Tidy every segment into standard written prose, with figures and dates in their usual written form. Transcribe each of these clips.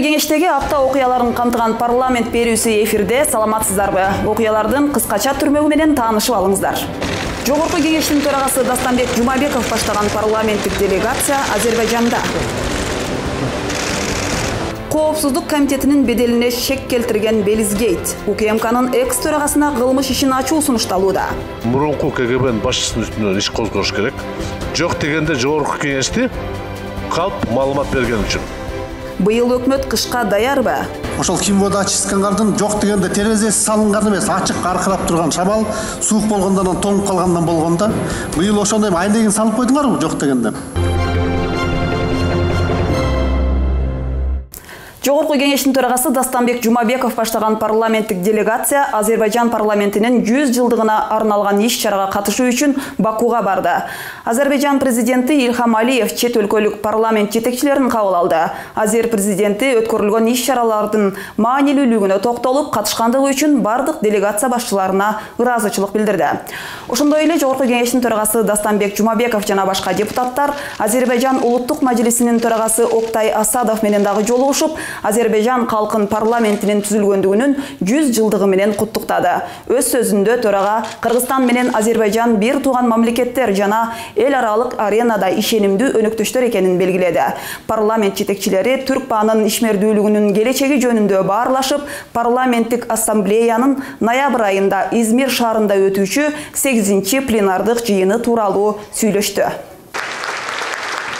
кеңештеги апта окуяларын камтыган парламент берүүсү эфирде. Саламатсыздарбы? Окуялардын кыскача түрмөгү менен таанышып алыңыздар. Жогорку кеңештин төрагасы Дастамбек Жумабеков баштаган парламенттик делегация Азербайжанда. Коопсуздук комитетинин беделине шек келтирген Белизгейт УКМКнын экс-төрагасына кылмыш ишин ачуу сунушталууда. Мурунку КГБнын башчысынын үстүнөн иш козгош керек. Жок дегенде жогорку кеңешти калп маалымат берген үчүн. Быйыл өкмөт кышка даярбы? Ошол кимвода ачыскандардын жок дегенде терезеси салынган эмес, ачык аркырап турган шамал суук болгондон тоңуп калгандан болгондо быйыл ошондой айнегин салып койдуңарбы жок дегенде? Жогорку кеңештин төрагасы Дастамбек Жумабеков баштаган парламенттик делегация Азербайжан парламентинин 100 жылдыгына арналган иш-чарага катышуу үчүн Бакуга барды. Азербайжан президенти Ильхам Алиев чет өлкөлүк парламент жетекчилерин кабыл алды. Азер президенти өткөрүлгөн иш-чаралардын маанилүүлүгүнө токтолуп, катышкандыгы үчүн бардык делегация башчыларына ыраазычылык билдирди. Ошондой эле жогорку кеңештин төрагасы Дастамбек Жумабеков жана башка депутаттар Азербайжан улуттук мажлисинин төрагасы Октай Асадов менен дагы жолугушуп, Азербайжан калкын парламентинин түзүлгөндүгүнүн 100 жылдыгы менен куттуктады. Өз сөзүндө төрага Кыргызстан менен Азербайжан бир тууган мамлекеттер жана эл аралык аренада ишенимдүү өнөктөштөр экенин белгиледи. Парламент жетекчилери Түркпаанын ишмердүүлүгүнүн келечеги жөнүндө баарлашып, парламенттик ассамблеянын ноябрь айында Измир шаарында өтүүчү 8-чи пленардык жыйыны тууралуу сүйлөштү.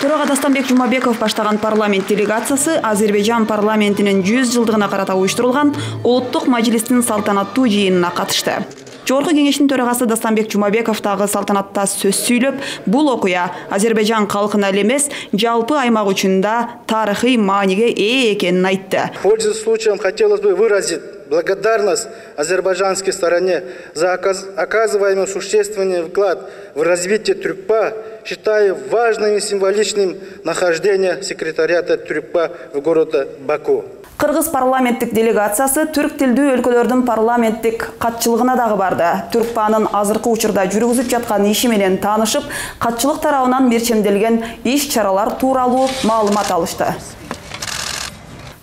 Төрага Дастамбек Жумабеков баштаган парламент делегациясы Азербайжан парламентинин 100 жылдыгына карата уюштурулган улуттук мажлистин салтанаттуу жыйынына катышты. Жогорку кеңештин төрагасы Дастамбек Жумабеков дагы салтанатта сөз сүйлөп, бул окуя Азербайжан калкына эле эмес, жалпы аймак үчүн да тарыхый мааниге ээ экенин айтты. Пользуясь случаем, хотелось бы выразить благодарность азербайджанской стороне за оказываемый существенный вклад в развитие Түркпа, считаю важным и символичным нахождение секретариата Түркпа в городе Баку. Кыргыз парламенттик делегациясы түрк тилдүү өлкөлөрдүн парламенттик катчылыгына дагы барды. Түркпаанын азыркы учурда жүргүзүп жаткан иши менен таанышып, катчылык тарабынан мерчемделген иш-чаралар тууралуу маалымат алышты.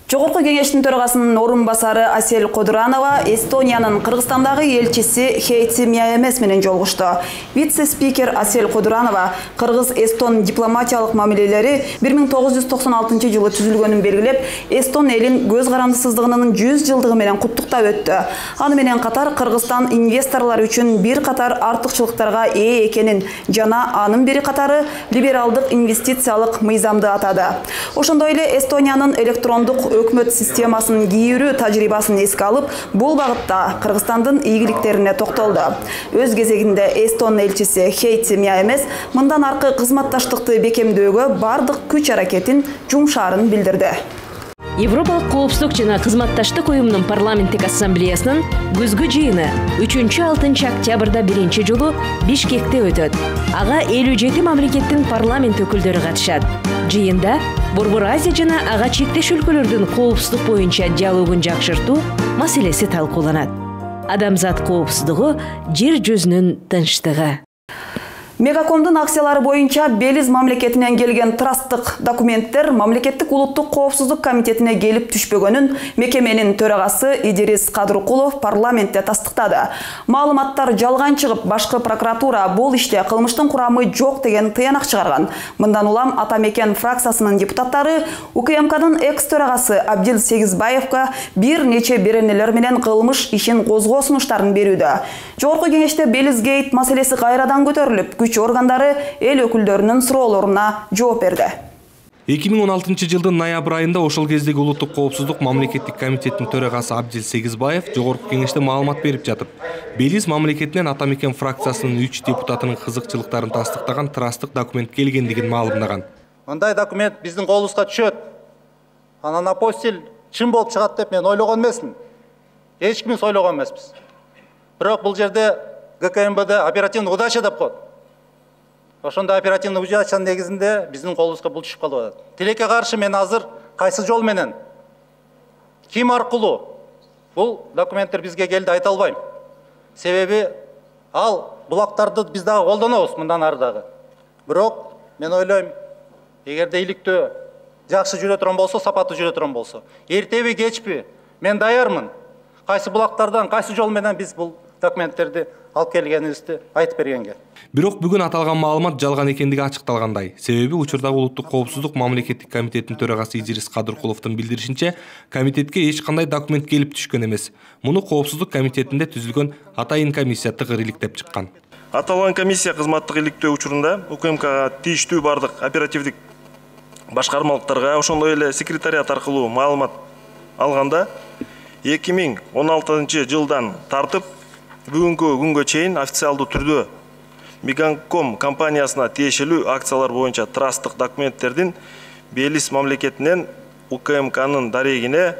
Жогорку кеңештин төрагасынын орун басары Асел Кодуранова Эстониянын Кыргызстандагы элчиси Хейти Мяемес менен жолугушту. Вице-спикер Асел Кодуранова Кыргыз-Эстон дипломатиялык мамилелери 1996 жылы түзүлгөнүн белгилеп, Эстон элин көз карандысыздыгынын 100 жылдыгы менен куттуктап өттү. Аны менен катар Кыргызстан инвесторлор үчүн бир катар артыкчылыктарга ээ экенин жана анын бери катары либералдык инвестициялык мыйзамды атады. Ошондой эле Эстониянын электрондук өкмөт системасынын кийүүрүү тажрыйбасын эске алып, бул багытта Кыргызстандын ийгиликтерине токтолду. Өз кезегинде Эстон элчиси Хейти Мяемес мындан аркы кызматташтыкты бекемдөөгө бардык күч-аракетин жумшаарын билдирди. Европалык коопсуздук жана кызматташтык уюмунун парламенттик ассамблеясынын күзгү жыйыны 3-6 октябрда биринчи жолу Бишкекте өтөт. Ага 57 мамлекеттин парламент өкүлдөрү катышат. Жыйында Борбор Азия жана ага чектеш өлкөлөрдүн коопсуздук боюнча диалогун жакшыртуу маселеси талкууланат. Адамзат коопсуздугу жер жүзүнүн тынчтыгы. Мегакомдун акциялары боюнча Белиз мамлекетинен келген трасттык документтер мамлекеттик улуттук коопсуздук комитетине келип түшпөгөнүн мекеменин төрагасы Идирис Кадыркулов парламентте тастыктады. Маалыматтар жалган чыгып, башкы прокуратура бул иште кылмыштын курамы жок деген тыянак чыгарган. Мындан улам Ата Мекен фракциясынын депутаттары УКМКнын экс-төрагасы Абдил Сегизбаевка бир нече беренелер менен кылмыш ишин козгоо сунуштарын берүүдө. Жогорку кеңеште Белизгейт маселеси кайрадан көтөрүлүп, күч органдары эл өкүлдөрүнүн суроолоруна жооп берди. 2016 жылдын ноябрь айында ошол кездеги улуттук коопсуздук мамлекеттик комитетинин төрагасы Абдил Сегизбаев жогорку кеңеште маалымат берип жатып, Белиз мамлекетинен Ата Мекен фракциясынын 3 депутатынын кызыкчылыктарын тастыктаган трасттык документ келгендигин маалымдаган. Мындай документ биздин колубузга түшөт. Анан апостил чын болуп чыгат деп мен ойлогон эмесмин. Эч кимиз ойлогон эмеспиз. Бирок бул жерде ГКМБД оперативный удача деп коет. Ошондой оперативный удачанын негизинде биздин колубузга бул түшүп калып атат. Тилекке каршы мен азыр кайсы жол менен, ким аркылуу бул документтер бизге келди айта албайм. Себеби ал булактарды биз дагы колдонобуз мындан ары дагы. Бирок мен ойлойм, эгерде иликтөө жакшы жүрө турган болсо, сапаттуу жүрө турган болсо, эртеби кечпи мен даярмын. Кайсы булактардан, кайсы жол менен биз бул документтерди алып келгенибизди айтып бергенге. Бирок бүгүн аталган маалымат жалган экендиги ачыкталгандай. Себеби учурдагы Улуттук коопсуздук мамлекеттик комитетинин төрагасы Идирис Кадыркуловдун билдиришинче, комитетке эч кандай документ келип түшкөн эмес. Муну коопсуздук комитетинде түзүлгөн атайын комиссия тыгыр иликтеп чыккан. Аталган комиссия кызматтык иликтөө учурунда УКМКга тийиштүү бардык оперативдик башкармалыктарга, ошондой эле секретариат аркылуу маалымат алганда 2016 жылдан тартып бүгүнкү күнгө чейин официалдуу түрдө Меганком компаниясына тиешелүү акциялар боюнча трасттык документтердин Белиз мамлекетинен УКМКнын дарегине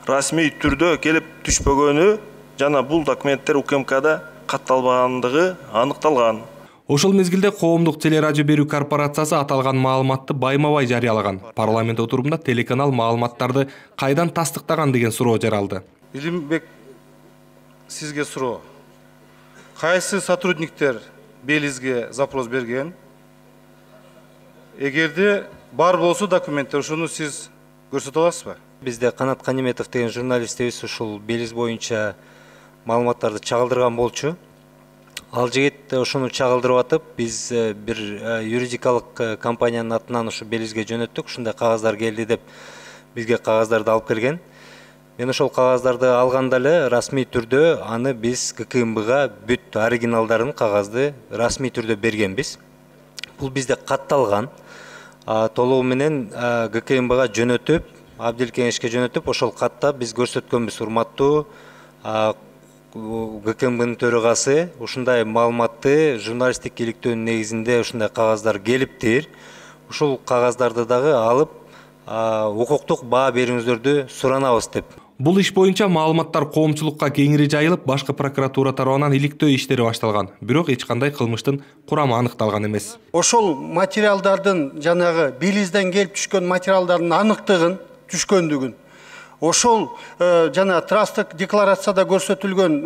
расмий түрдө келип түшпөгөнү жана бул документтер УКМКда катталбагандыгы аныкталган. Ошол мезгилде коомдук телерадио берүү корпорациясы аталган маалыматты байма-бай жарыялаган. Парламент отурумунда телеканал маалыматтарды кайдан тастыктаган деген суроо жаралды. Илимбек, сизге суроо. Кайсы сотрудниктер Белизге запрос берген? Эгерде бар болсо документтер, ошону сиз көрсөтө аласызбы? Бизде Канат Каниметов деген журналистибиз ушул Белиз боюнча маалыматтарды чагылдырган болчу. Ал жигит ошону чагылдырып атып, биз бир юридикалык компаниянын атынан ушу Белизге жөнөттүк. Ушундай кагаздар келди деп бизге кагаздарды алып келген. Мен ошол кагаздарды алганда эле расмий түрдө аны биз ГКМБга бүт оригиналдарын кагазды расмий түрдө бергенбиз. Бул бизде катталган. Толугу менен ГКМБга жөнөтүп, Абдил Кеңешке жөнөтүп, ошол катта биз көрсөткөнбүз. Урматтуу ГКМБнын төрагасы ушундай маалыматты журналисттик иликтөөнүн негизинде ушундай кагаздар келиптир. Ушул кагаздарды дагы алып укуктук баа берүүңүздөрдү суранабыз деп. Бул иш боюнча маалыматтар коомчулукка кеңири жайылып, башкы прокуратура тарабынан иликтөө иштери башталган. Бирок эч кандай кылмыштын курамы аныкталган эмес. Ошол материалдардын жанагы Белизден келип түшкөн материалдардын аныктыгын, түшкөндүгүн, ошол жана трасттык декларацияда көрсөтүлгөн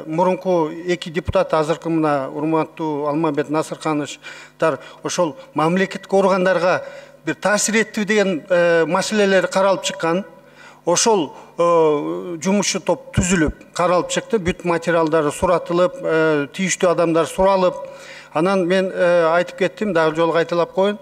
мурунку эки депутат, азыркы мына урматтуу Алмамбет Насыркановичтар ошол мамлекеттик органдарга бир таасир этти деген маселелер каралып чыккан. Ошол жумушчу топ түзүлүп, каралып чыкты, бүт материалдары суратылып, тийиштүү адамдар суралып. Анан мен айтып кеттим, дагы жолу кайталап коеюн.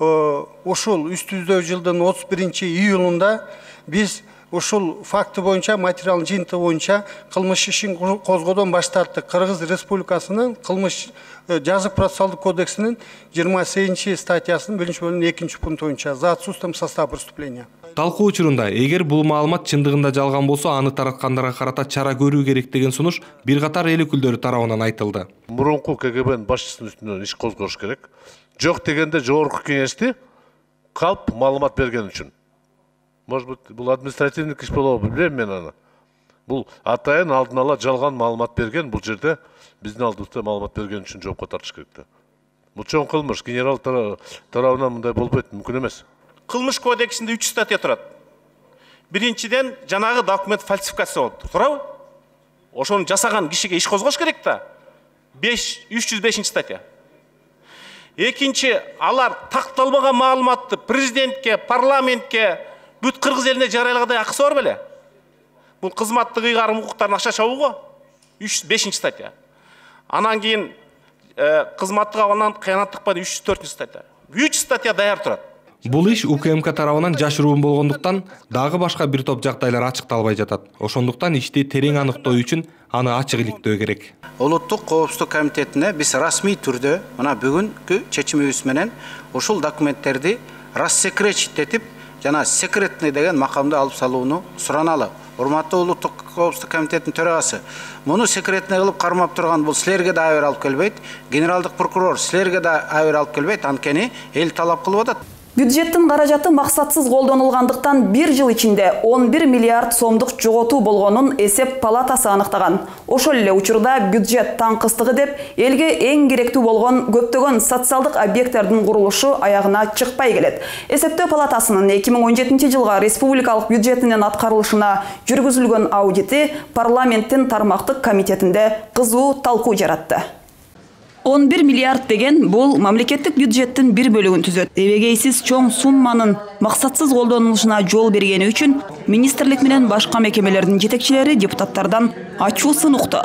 Ошол үстүбүздөгү жылдын 31-июлунда биз ушул факты боюнча, материалдын жыйынтыгы боюнча кылмыш ишин козгоодон баш тарттык. Кыргыз Республикасынын кылмыш жазык процессуалдык кодексинин 28-статьясынын 1-бөлүмүнүн 2 пункту боюнча за отсутствием состава преступления. Талкуу учурунда эгер бул маалымат чындыгында жалган болсо, аны тараткандарга карата чара көрүү керек деген сунуш бир катар эл өкүлдөрү тарабынан айтылды. Мурунку КГБнын башчысынын үстүнөн иш козгош керек. Жок дегенде жогорку кеңешти калп маалымат берген үчүн. Может быть, бул административный иш болобу, билбейм мен аны. Бул атайын алдын ала жалган маалымат берген, бул жерде биздин алдыбызда маалымат берген үчүн жоопко тартыш керек да. Бул чоң кылмыш, генерал тарабынан мындай болбойт, мүмкүн эмес. Кылмыш кодексинде 3 статья турат. Биринчиден жанагы документ фальсификация болуп туурабы? Ошону жасаган кишиге иш козгош керек да. 305 статья. Экинчи, алар такталбаган маалыматты президентке, парламентке, бүт кыргыз элине жарыялагандай акысы бар беле? Бул кызматтык ыйгарым укуктарын аша чабууго 305 статья. Анан кийин кызматтык абалдан кыянаттыкка 304 статья. 3 статья даяр турат. Бул иш УКМК тарабынан жашыруун болгондуктан дагы башка бир топ жагдайлар ачыкталбай жатат. Ошондуктан ишти терең аныктоо үчүн аны ачык иликтөө керек. Улуттук коопсуздук комитетине биз расмий түрдө мына бүгүнкү чечимибиз менен ушул документтерди рассекретитетип жана секретный деген макамды алып салууну сураналы. Урматтуу Улуттук коопсуздук комитетинин төрагасы, муну секретный кылып кармап турган бул силерге да айыр алып келбейт, генералдык прокурор силерге да айыр алып келбейт, анткени эл талап кылып атат. Бюджеттин каражаты максатсыз колдонулгандыктан 1 жыл ичинде 11 миллиард сомдук жоготуу болгонун эсеп палатасы аныктаган. Ошол эле учурда бюджет таңкыстыгы деп элге эң керектүү болгон көптөгөн социалдык объекттердин курулушу аягына чыкпай келет. Эсептөө палатасынын 2017 жылга республикалык бюджетинин аткарылышына жүргүзүлгөн аудити парламенттин тармактык комитетинде кызуу талкуу жаратты. 11 миллиард деген бул мамлекеттик бюджеттин бир бөлүгүн түзөт. Эбегейсиз чоң сумманын максатсыз колдонулушуна жол бергени үчүн министрлик менен башка мекемелердин жетекчилери депутаттардан ачуусун укту.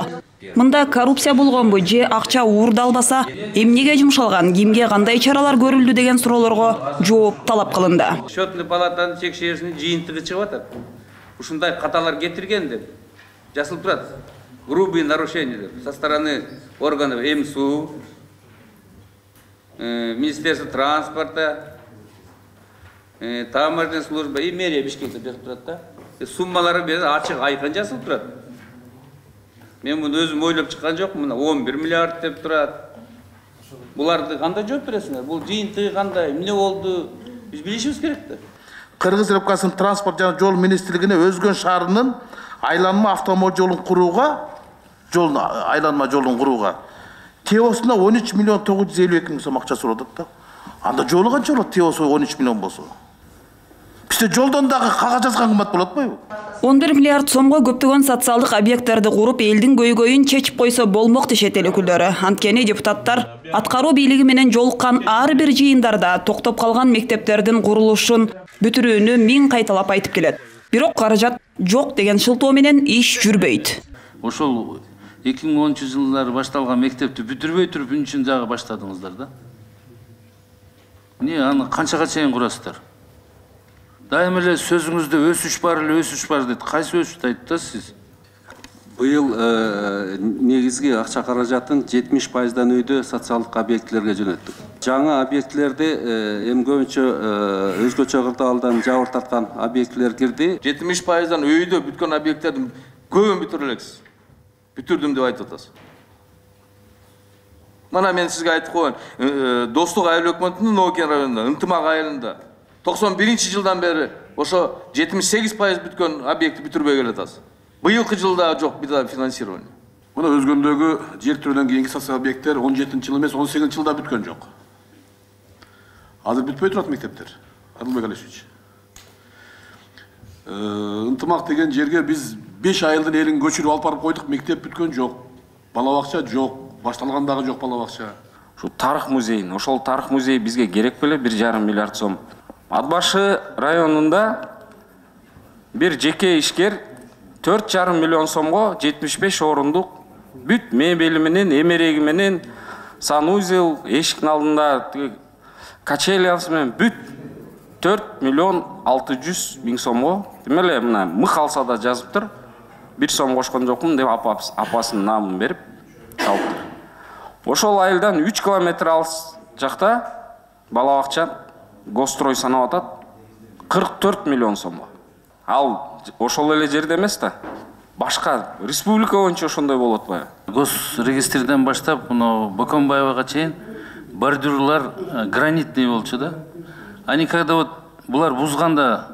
Мында коррупция болгонбу же акча уурдалбаса, эмнеге жумшалган, кимге кандай чаралар көрүлдү деген суроолорго жооп талап кылынды. Счетный палатанын текшерүүсүнүн жыйынтыгы чыгып атат. Ушундай каталар кетирген деп жазылып турат. Грубые нарушения со стороны органов МСУ, Министерства транспорта, таможенная служба и мэрия Бишкекте жазылып турат да. Суммалары бир ачык айкын жазылып турат. Мен муну өзүм ойлоп чыккан жокмун. Мына 11 миллиард деп турат. Буларды кандай жооп бересиңер? Бул жыйынтыгы кандай? Эмне болду? Биз билишибиз керек да. Кыргыз Республикасынын транспорт жана жол министрлигине Өзгөн шаарынын айланма автомобиль жолун курууга, айланма жолун курууга теосуна 13 миллион 952 миң сом акча суралат да. Анда жолу канча болот теосу 13 миллион болсо? Бизде жолдон дагы кагаз жазган кымбат болот атпайбы? 11 миллиард сомго көптөгөн социалдык объекттерди куруп, элдин көйгөйүн чечип койсо болмок дешет эл өкүлдөрү. Анткени депутаттар аткаруу бийлиги менен жолуккан ар бир жыйындарда токтоп калган мектептердин курулушун бүтүрүүнү 1000 кайталап айтып келет. Бирок каражат жок деген шылтоо менен иш жүрбөйт. Ошол 2010-жылдары башталган мектепти бүтүрбөй туруп үчүн дагы баштадыңыздар да. Эмне аны канчага чейин курасыздар? Дайым эле сөзүңүздө өсүш бар дейт. Кайсы өсүштү айтасыз? Быйыл негизги акча каражатын 70%дан өйдө социалдык объектилерге жөнөттүк. Жаңы объектилерди эми көбүнчө өзгөчө кырдаалдан жабыр тарткан объектилер кирди. 70%дан өйдө бүткөн объекттердин көбүн бүтүрө элексиз. Бүтүрдүм деп айтып атасыз. Мана мен сизге айтып коеюн. Достук айыл өкмөтүнүн Нокен районунда, Ынтымак айылында 91-жылдан бери ошо 78% бүткөн объекти бүтүрбөй келатасыз. Быйылкы жылда жок финансирование. Мына Өзгөндөгү жер түрүнөн кийинки социалдык объекттер 17-жыл эмес 18-жылда бүткөн жок. Азыр бүтпөй турат мектептер. Адылбек Алишевич. Ынтымак деген жерге биз 5 айылдын элин көчүрүп алып барып койдук, мектеп бүткөн жок. Бала бакча жок, башталган дагы жок бала бакча. Ошол тарых музейин, ошол тарых музей бизге керек беле 1,5 миллиард сом. Ат башы районунда бир жеке ишкер 4,5 миллион сомго 75 орундук бүт мебели менен, эмереги менен, санузел, эшиктин алдында качелясы менен бүт 4 миллион 600 миң сомго, демеле мына мык алса да жазыптыр. 1 сом кошкон жокмун деп апасынын намын берип алыптыр. Ошол айылдан 3 километр алыс жакта бала бакча Гострой санап атат 44 миллион сомго. Ал ошол эле жерде эмес да. Башка республика боюнча ошондой болот атпайбы? Госрегистрден баштап, мына Бокомбаевага чейин бордюрлар гранитный болчу да. Они когда вот булар бузганда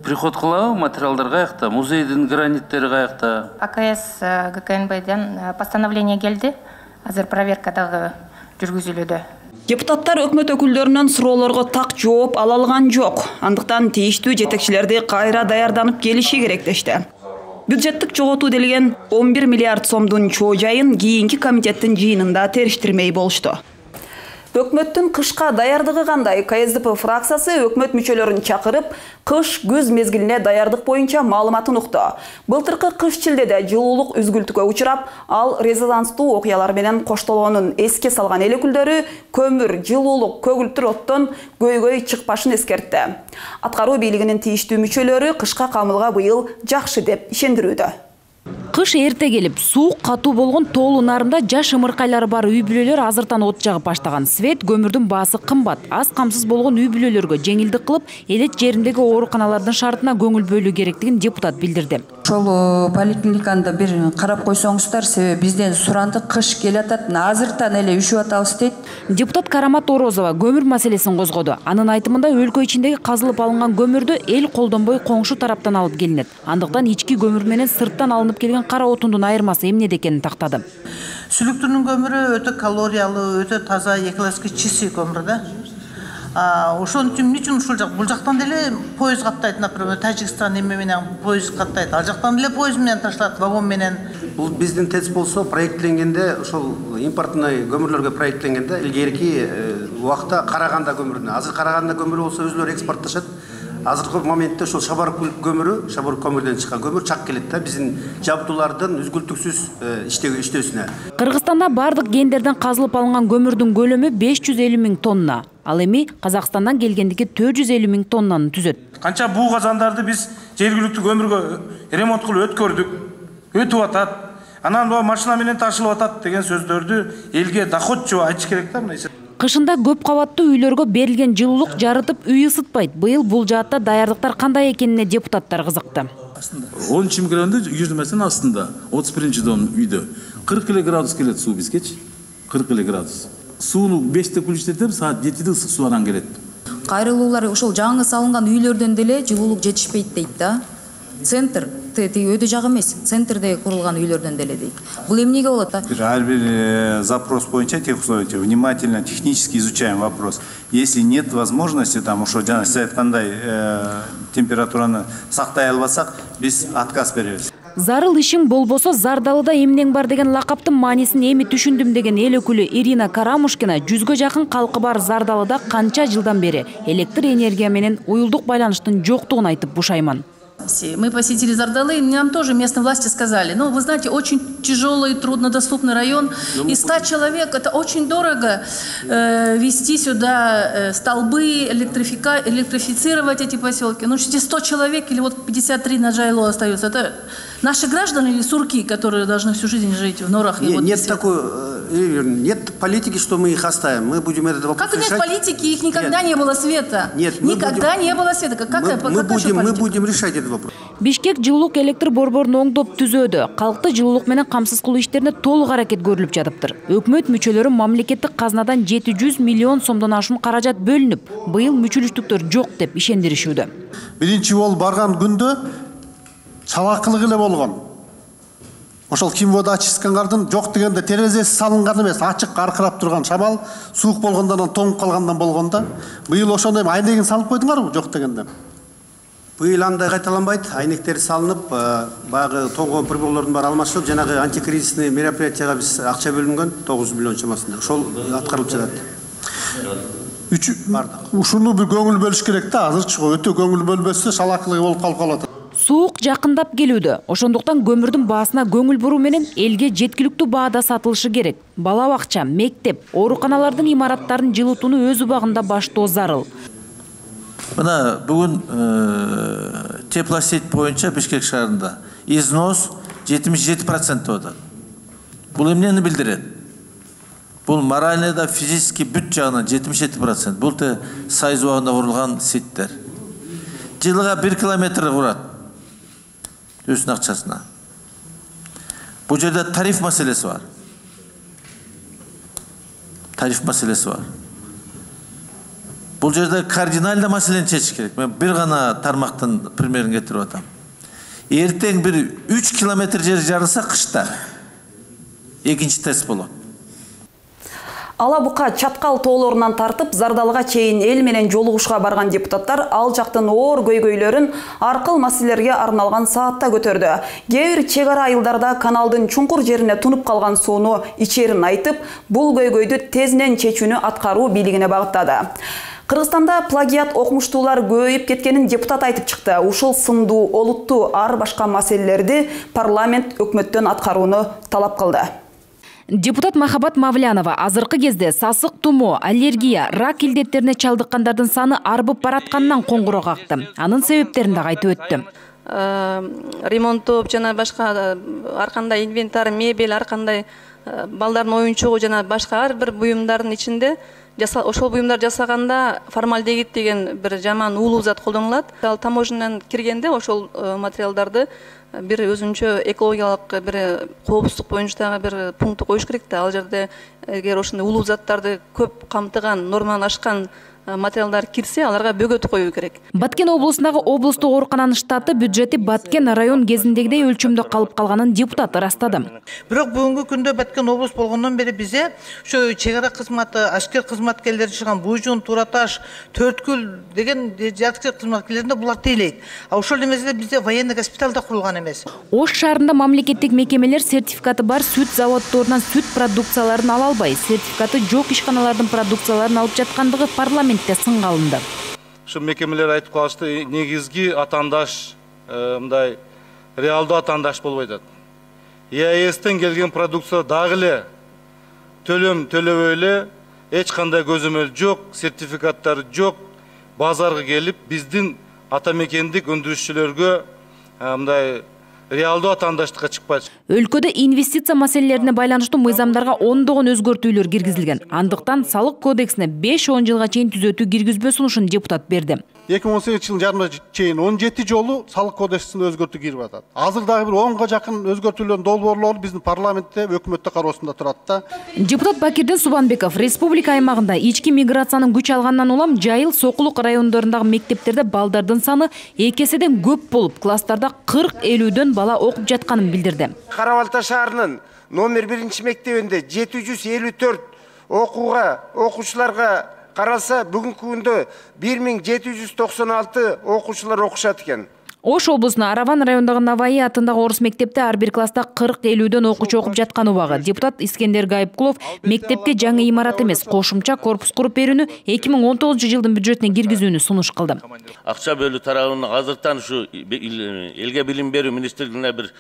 приход кылабы, материалдар каякта, музейдин граниттери каякта? АКС ГКНБдан постановление келди. Азыр проверка дагы жүргүзүлүүдө. Депутаттар өкмөт өкүлдөрүнүн суроолорго так жооп ала алган жок. Андыктан тийиштүү жетекчилерди кайра даярданып келиши керек дешти. Бюджеттик жоготуу делген 11 миллиард сомдун чоо жайын кийинки комитеттин жыйынында териштирмей болушту. Өкмөттүн кышка даярдыгы кандай? КСДП фракциясы өкмөт мүчөлөрүн чакырып, кыш-күз мезгилине даярдык боюнча маалыматын укту. Былтыркы кыш чилдеде жылуулук үзгүлтүккө учурап, ал резонанстуу окуялар менен коштолгонун эске салган эл өкүлдөрү көмүр, жылуулук, көгүлтүр оттон көйгөй чыкпашын эскертти. Аткаруу бийлигинин тийиштүү мүчөлөрү кышка камылга быйыл жакшы деп ишендирүүдө. Кыш эрте келип, суук катуу болгон тоолуу нарымда жаш ымыркайлары бар үй бүлөлөр азыртан от жагып баштаган. Свет, көмүрдүн баасы кымбат. Аз камсыз болгон үй бүлөлөргө жеңилдик кылып, элет жериндеги ооруканалардын шартына көңүл бөлүү керектигин депутат билдирди. Ошол поликлиниканы бир карап койсоңуздар, себеби бизден суранды, кыш келатат, азыртан эле үшүп атабыз дейт. Депутат Карамат Орозова көмүр маселесин козгоду. Анын айтымында өлкө ичиндеги казылып алынган көмүрдү эл колдонбой коңшу тараптан алып келинет. Андыктан ички көмүр менен сырттан алынып келген кара отундун айырмасы эмнеде экенин тактады. Сүлүктүрүнүн көмүрү өтө калориялуу, өтө таза, экологически чистый көмүр да. Ошон үчүн эмне үчүн ушул жак бул жактан деле поезд каттайт, например, Тажикстан эме менен поезд каттайт, ал жактан деле поезд менен ташталат, вагон менен. Бул биздин ТЭЦ болсо проектленгенде, ошол импортный көмүрлөргө проектленгенде илгерки убакта Караганда көмүрүнө, азыр Караганда көмүрү болсо өзүлөрү экспортташат. Азыркы моментте ошол Шабарык көмүрү, Шабарык көмүрдөн чыккан көмүр чак келет да биздин жабдуулардын үзгүлтүксүз иштөөсүнө. Кыргызстанда бардык кендерден казылып алынган көмүрдүн көлөмү 550 000 тонна. Ал эми Казакстандан келгендики 450 000 тоннаны түзөт. Канча буу казандарды биз жергиликтүү көмүргө ремонт кылып өткөрдүк, өтүп атат. Анан бул машина менен ташылып атат деген сөздөрдү элге доходчу айтыш керек да мына. Кышында көп кабаттуу үйлөргө берилген жылуулук жарытып үй ысытпайт. Быйыл бул жаатта даярдыктар кандай экенине депутаттар кызыкты. 10 градус жүрмөсүн астында 31 дом үйдө 40 градус келет суу бизгечи. 40 градус. Сууну 5-те күлүштетип, саат 7-де суу анан келет. Кайрылуулар ошол жаңы салынган үйлөрдөн деле жылуулук жетишпейт дейт да. Центр өтө жак эмес, центрде курулган үйлөрдөн деле дейт. Бул эмнеге болот да? Ар бир запрос боюнча техусловия внимательно, технически изучаем вопрос. Если нет возможности там ошо жана сиз айткандай температураны сактай албасак, биз отказ беребиз. Зарыл ишиң болбосо Зардалыда эмнең бар деген лакаптын маанисин эми түшүндүм деген эл өкүлү Ирина Карамушкина 100гө жакын калкы бар Зардалыда канча жылдан бери электр энергия менен уюлдук байланыштын жоктугун айтып бушайман. Мы посетили Зардалы, и нам тоже местные власти сказали, ну, вы знаете, очень тяжелый и труднодоступный район, и 100 человек, это очень дорого вести сюда столбы, электрифицировать эти поселки. Ну, 100 человек или вот 53 на Жайло остаются, это наши граждане или сурки, которые должны всю жизнь жить в норах? Нет такой, нет политики, что мы их оставим, мы будем этот вопрос решать. Как нет политики, их никогда не было, Света. Нет, никогда не было, Света. Мы будем решать этот вопрос. Бишкек жылуулук электр борборун оңдоп түзөөдө, калкты жылуулук менен камсыз кылуу иштерине толук аракет көрүлүп жатыптыр. Өкмөт мүчөлөрү мамлекеттик казнадан 700 миллион сомдон ашуун каражат бөлүнүп, быйыл мүчөлүштүктөр жок деп ишендиришүүдө. Биринчи жолу барган күндө чалакылык эле болгон. Ошол Кимводачискандардын жок дегенде терезеси салынган эмес, ачык аркырап турган шамал, суук болгондон тоңуп калгандан болгондо. Быйыл ошондой айнегин салып койдуңарбы жок дегенде? Быйыл андай кайталанбайт, айнектер салынып, баягы тоңгон приборлордун баары алмашылып, жанагы антикризисный мероприятияга биз акча бөлүнгөн 9 миллион чамасында. Ошол аткарылып жатат. Ушуну бир көңүл бөлүш керек да, азырчы өтө көңүл бөлбөсө шалакылык болуп калат. Суук жакындап келүүдө. Ошондуктан көмүрдүн баасына көңүл буруу менен элге жеткиликтүү баада сатылышы керек. Бала бакча, мектеп, ооруканалардын имараттарын жылытууну өз убагында баштоо зарыл. Мына бүгүн теплосеть боюнча Бишкек шаарында износ 77% болот. Бул эмнени билдирет? Бул морально да физически бүт жагынан 77%. Бул те Сайыз убагында курулган сеттер. Жылга 1 километр курат. Өзүнүн акчасына. Бул жерде тариф маселеси бар. Бул жерде кардинальный маселени чечиш керек. Мен бир гана тармактын примерин кетирип атам. Эртең бир 3 километр жер жарылса кышта экинчи тест болот. Ала бука Чаткал тоолорунан тартып Зардалыга чейин эл менен жолугушка барган депутаттар ал жактын оор көйгөйлөрүн аркыл маселелерге арналган саатта көтөрдү. Кээ бир чек ара айылдарда каналдын чуңкур жерине тунуп калган сууну ичерин айтып, бул көйгөйдү тезинен чечүүнү аткаруу бийлигине багыттады. Кыргызстанда плагиат окумуштуулар көбөйүп кеткенин депутат айтып чыкты. Ушул сындуу, олуттуу ар башка маселелерди парламент өкмөттөн аткарууну талап кылды. Депутат Махабат Мавлянова азыркы кезде сасык тумоо, аллергия, рак илдеттерине чалдыккандардын саны арбып баратканынан коңгуроо какты. Анын себептерин да айтып өттү. Ремонттоп жана башка ар кандай инвентарь, мебель, ар кандай балдардын оюнчугу жана башка ар бир буюмдардын ичинде ошол буюмдар жасаганда формальдегид деген бир жаман уулуу зат колдонулат. Ал таможнядан киргенде ошол материалдарды бир өзүнчө экологиялык бир коопсуздук боюнча дагы бир пункт коюш керек да. Ал жерде эгер ошондой уулуу заттарды көп камтыган, норманы ашкан материалдар кирсе, аларга бөгөт коюу керек. Баткен облусундагы облустук оорукананын штаты бюджети Баткен район кезиндегидей өлчөмдө калып калганын депутат ырастады. Бирок бүгүнкү күндө Баткен облус болгондон бери бизе ошо чек ара кызматы, аскер кызматкерлери чыган Буйжун, Тураташ, Төрткүл деген аскер кызматкерлеринде булар тейлейт. А ошол эмеде бизде военный госпиталь да курулган эмес. Ош шаарында мамлекеттик мекемелер сертификаты бар сүт заводдорунан сүт продукцияларын ала албай, сертификаты жок ишканалардын продукцияларын алып жаткандыгы парламентте сынга алынды. Ушул мекемелер айтып калышты, негизги атаандаш мындай реалдуу атаандаш болбой атат. ЕАЭСтен келген продукция дагы эле төлөм төлөбөй эле, эч кандай көзөмөл жок, сертификаттар жок, базарга келип биздин ата мекендик өндүрүшчүлөргө мындай реалдуу атаандаштыкка чыкпайт. Өлкөдө инвестиция маселелерине байланыштуу мыйзамдарга ондогон өзгөртүүлөр киргизилген. Андыктан салык кодексине 5-10 жылга чейин түзөтүү киргизбөө сунушун депутат берди. 2018 жылдын жарымына чейин 17 жолу салык кодексине өзгөртүү кирип атат. Азыр дагы бир 10га жакын өзгөртүүлөрдүн долбоорлору биздин парламентте, өкмөттө кароосунда турат да. Депутат Бакирдин Субанбеков республика аймагында ички миграциянын күч алгандан улам Жайыл, Сокулук райондорундагы мектептерде балдардын саны 2 эседен көп болуп, класстарда 40-50дөн бала окуп жатканын билдирди. Карабалта шаарынын номер 1 мектебинде 754 окуучуларга каралса, бүгүнкү күндө 1796 окуучулар окушат экен. Ош облусунун Араван райондогу Наваи атындагы орус мектепте ар бир класста 40-50дөн окуучу окуп жаткан убагы. Депутат Искендер Гайыпкулов мектепке жаңы имарат эмес, кошумча корпус куруп берүүнү 2019 жылдын бюджетине киргизүүнү сунуш кылды. Акча бөлүү тарабынан азыртан ушу элге билим берүү министрлигине бир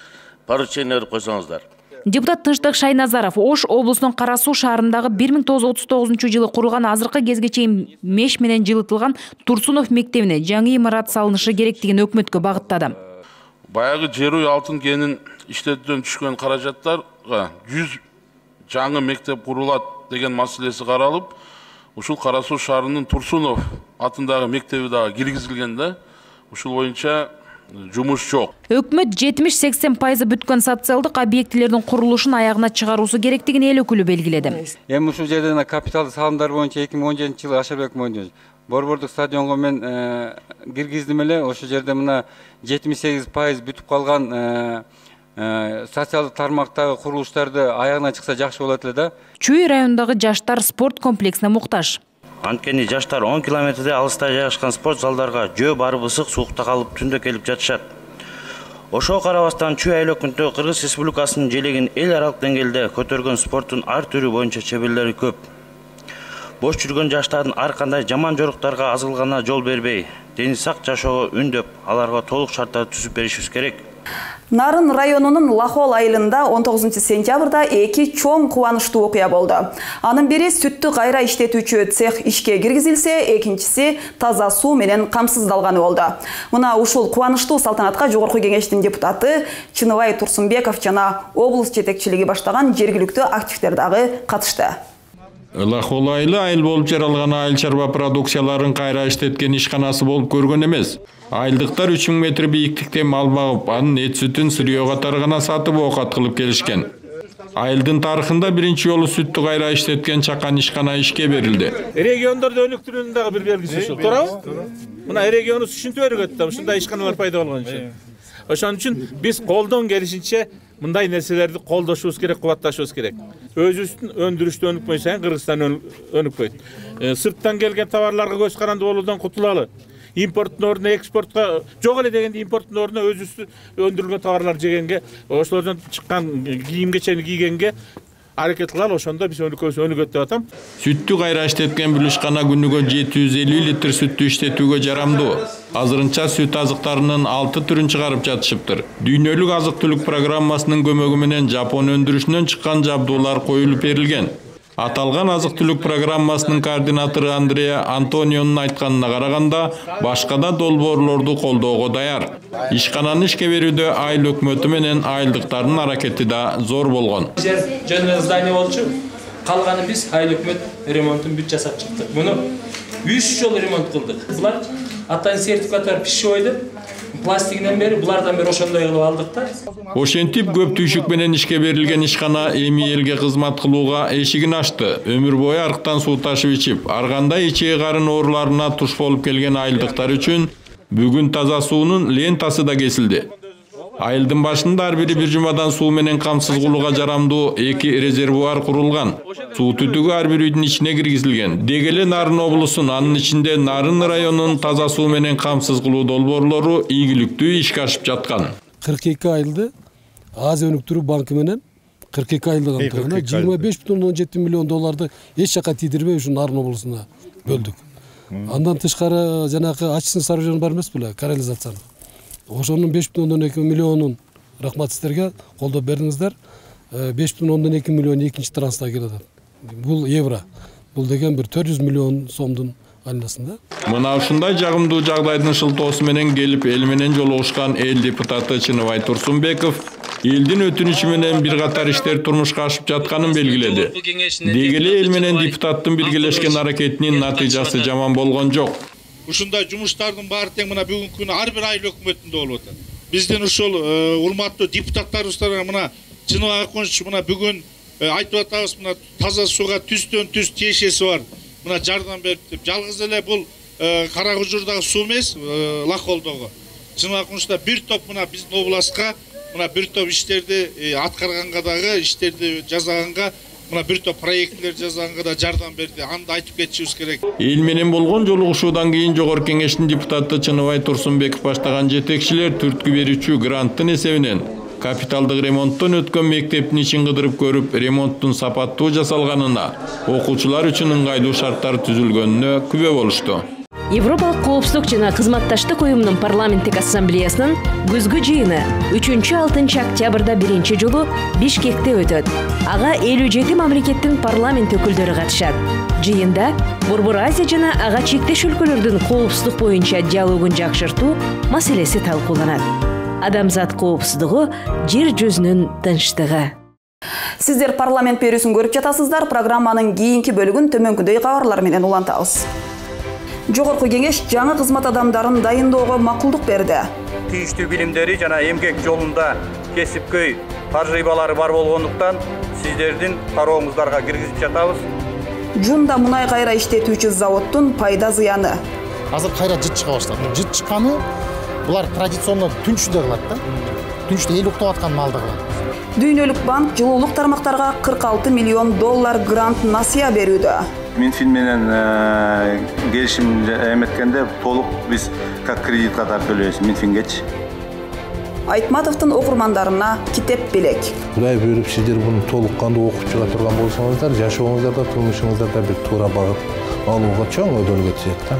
поручение берип койсоңуздар. Депутат Тынчтык Шайназаров Ош облусунун Кара Суу шаарындагы 1939 жылы курулган азыркы кезге чейин меш менен жылытылган Турсунов мектебине жаңы имарат салынышы керектигин өкмөткө багыттады. Баягы жер үй алтын кенин иштетүүдөн түшкөн каражаттарга 100 жаңы мектеп курулат деген маселеси каралып, ушул Кара Суу шаарынын Турсунов атындагы мектеби дагы киргизилген да. Ушул боюнча жумуш жок. Өкмөт 70-80% бүткөн социалдык объектилердин курулушун аягына чыгаруусу керектигин эл өкүлү белгиледи. Эми ушул жерден капиталдык салымдар боюнча 2017 жылы Ашарбек Мойдонович борбордук стадионго мен киргиздим эле. Ошол жерде мына 78% бүтүп калган социалдык тармактагы курулуштарды аягына чыкса жакшы болот эле да. Чүй районундагы жаштар спорт комплексине муктаж. Анткени жаштар 10 километрде алыста жайгашкан спорт залдарга жөө барып ысык суукта калып түндө келип жатышат. Ошого карабастан Чүй айыл өкмөтү Кыргыз Республикасынын желегин эл аралык деңгээлде көтөргөн спорттун ар түрү боюнча чеберлери көп. Бош жүргөн жаштардын ар кандай жаман жоруктарга азылганына жол бербей, дени сак жашоого үндөп, аларга толук шарттарды түзүп беришибиз керек. Нарын районунун Лахол айылында 19 сентябрда 2 чоң кубанычтуу окуя болду. Анын бири сүттү кайра иштетүүчү цех ишке киргизилсе, экинчиси таза суу менен камсыздалганы болду. Мына ушул кубанычтуу салтанатка жогорку кеңештин депутаты Чыныбай Турсунбеков жана облус жетекчилиги баштаган жергиликтүү активдер дагы катышты. Лахол айылы айыл болуп жаралган айыл чарба продукцияларын кайра иштеткен ишканасы болуп көргөн эмес. Айылдыктар 3000 метр бийиктикте мал багып, анын эт сүтүн сырьё катары гана сатып оокат кылып келишкен. Айылдын тарыхында биринчи жолу сүттү кайра иштеткен чакан ишкана ишке берилди. Региондордо өнүктүрүүнүн дагы бир белгиси ушул, туурабы? Мына регионубуз ушинтип өргөт да, ушундай ишканалар пайда болгон үчүн. Ошон үчүн биз колдон келишинче мындай нерселерди колдошубуз керек, кубатташыбыз керек. Өзүбүздүн өндүрүштү өнүкпөй сайын Кыргызстан өнүкпөйт. Сырттан келген товарларга көз каранды болуудан кутулалы. Импорттун ордуна экспортко жок эле дегенде импорттун ордуна өзүбүздүн өндүрүлгөн товарлар жегенге, ошолордон чыккан кийим кечени кийгенге аракет кылалы, ошондо биз өнүгөт деп атам. Сүттү кайра иштеткен бул ишкана күнүгө 750 литр сүттү иштетүүгө жарамдуу. Азырынча сүт азыктарынын 6 түрүн чыгарып жатышыптыр. Дүйнөлүк азык-түлүк программасынын көмөгү менен Жапон өндүрүшүнөн чыккан жабдуулар коюлуп берилген. Аталган азык-түлүк программасынын координатору Андреа Антонионун айтканына караганда, башка да долбоорлорду колдоого даяр. Ишкананы ишке берүүдө айыл өкмөтү менен айылдыктардын аракети да зор болгон. Жер жөнүндө здание болчу, калганы биз айыл өкмөт ремонтун бүт жасап чыктык. Муну 3 жолу ремонт кылдык. Булар атайын сертификаттар пищевой деп пластигинен бери булардан бери ошондой кылып алдык да. Ошентип көп түйшүк менен ишке берилген ишкана эми элге кызмат кылууга эшигин ачты. Өмүр бою арыктан суу ташып ичип, ар кандай ичээ карын ооруларына туш болуп келген айылдыктар үчүн бүгүн таза суунун лентасы да кесилди. Айылдын башында ар бири бир жумадан суу менен камсыз кылууга жарамдуу 2 резервуар курулган. Суу түтүгү ар бир үйдүн ичине киргизилген. Деги эле Нарын облусунун, анын ичинде Нарын районунун таза суу менен камсыз кылуу долбоорлору ийгиликтүү ишке ашып жаткан. 42 айылды Азия өнүктүрүү банкы менен 42 айылды камтыган 25,17 миллион долларды эч жака тийдирбей ушу Нарын облусуна бөлдүк. Андан тышкары жанагы ачсын сооружение бар эмес беле, канализациянын. Ошонун 5,2 миллионун рахмат сиздерге колдоп бердиңиздер. 5,2 миллион экинчи транста келет. Бул евро. Бул деген бир 400 миллион сомдун айналасында. Мына ушундай жагымдуу жагдайдын шылтоосу менен келип эл менен жолугушкан эл депутаты Чыныбай Турсунбеков элдин өтүнүчү менен бир катар иштер турмушка ашып жатканын белгиледи. Деги эле эл менен депутаттын биргелешкен аракетинин натыйжасы жаман болгон жок. Ушундай жумуштардын баары тең мына бүгүнкү күнү ар бир айыл өкмөтүндө болуп атат. Биздин ушул урматтуу депутаттарыбызга мына Чыныбай Акунович мына бүгүн айтып атабыз, мына таза сууга түстөн түз тиешеси бар. Мына жардам берип деп. Жалгыз эле бул Кара Кужурдагы суу эмес, Лаколдогу. Чыныбай Акунович да бир топ мына биздин областка мына бир топ иштерди аткарганга дагы, иштерди жасаганга мына бир топ проекттер жасаганга да жардам берди. Аны да айтып кетишибиз керек. Эл менен болгон жолугушуудан кийин Жогорку Кеңештин депутаты Чыныбай Турсунбеков баштаган жетекчилер түрткү берүүчү гранттын эсебинен капиталдык ремонттон өткөн мектептин ичин кыдырып көрүп, ремонттун сапаттуу жасалганына, окуучулар үчүн ыңгайлуу шарттар түзүлгөнүнө күбө болушту. Европалык коопсуздук жана кызматташтык уюмунун парламенттик ассамблеясынын күзгү жыйыны 3-6 октябрда биринчи жолу Бишкекте өтөт. Ага 57 мамлекеттин парламент өкүлдөрү катышат. Жыйында Борбор Азия жана ага чектеш өлкөлөрдүн коопсуздук боюнча диалогун жакшыртуу маселеси талкууланат. Адамзат коопсуздугу жер жүзүнүн тынчтыгы. Сиздер парламент берүүсүн көрүп жатасыздар. Программанын кийинки бөлүгүн төмөнкүдөй кабарлар менен улантабыз. Жогорку Кеңеш жаңы кызмат адамдарын дайындоого макулдук берди. Тийиштүү билимдери жана эмгек жолунда кесипкөй тажрыйбалары бар болгондуктан сиздердин карооңуздарга киргизип жатабыз. Жунда мунай кайра иштетүүчү заводдун пайда зыяны. Азыр кайра жыт чыга баштады. Жыт чыкканы булар традиционно түнчүдө кылат да. Түнчүдө эл уктап аткан маалда кылат. Дүйнөлүк банк жылуулук тармактарга 46 миллион доллар грант насыя берүүдө. Минфин менен келишим эметкенде толук биз как кредит катары төлөйбүз Минфингечи. Айтматовдун окурмандарына китеп белек. Кудай буйруп сиздер буну толук кандуу окуп чыга турган болсоңуздар, жашооңуздарда, турмушуңуздарда бир туура багыт алууга чоң өдөлгө түзөт да.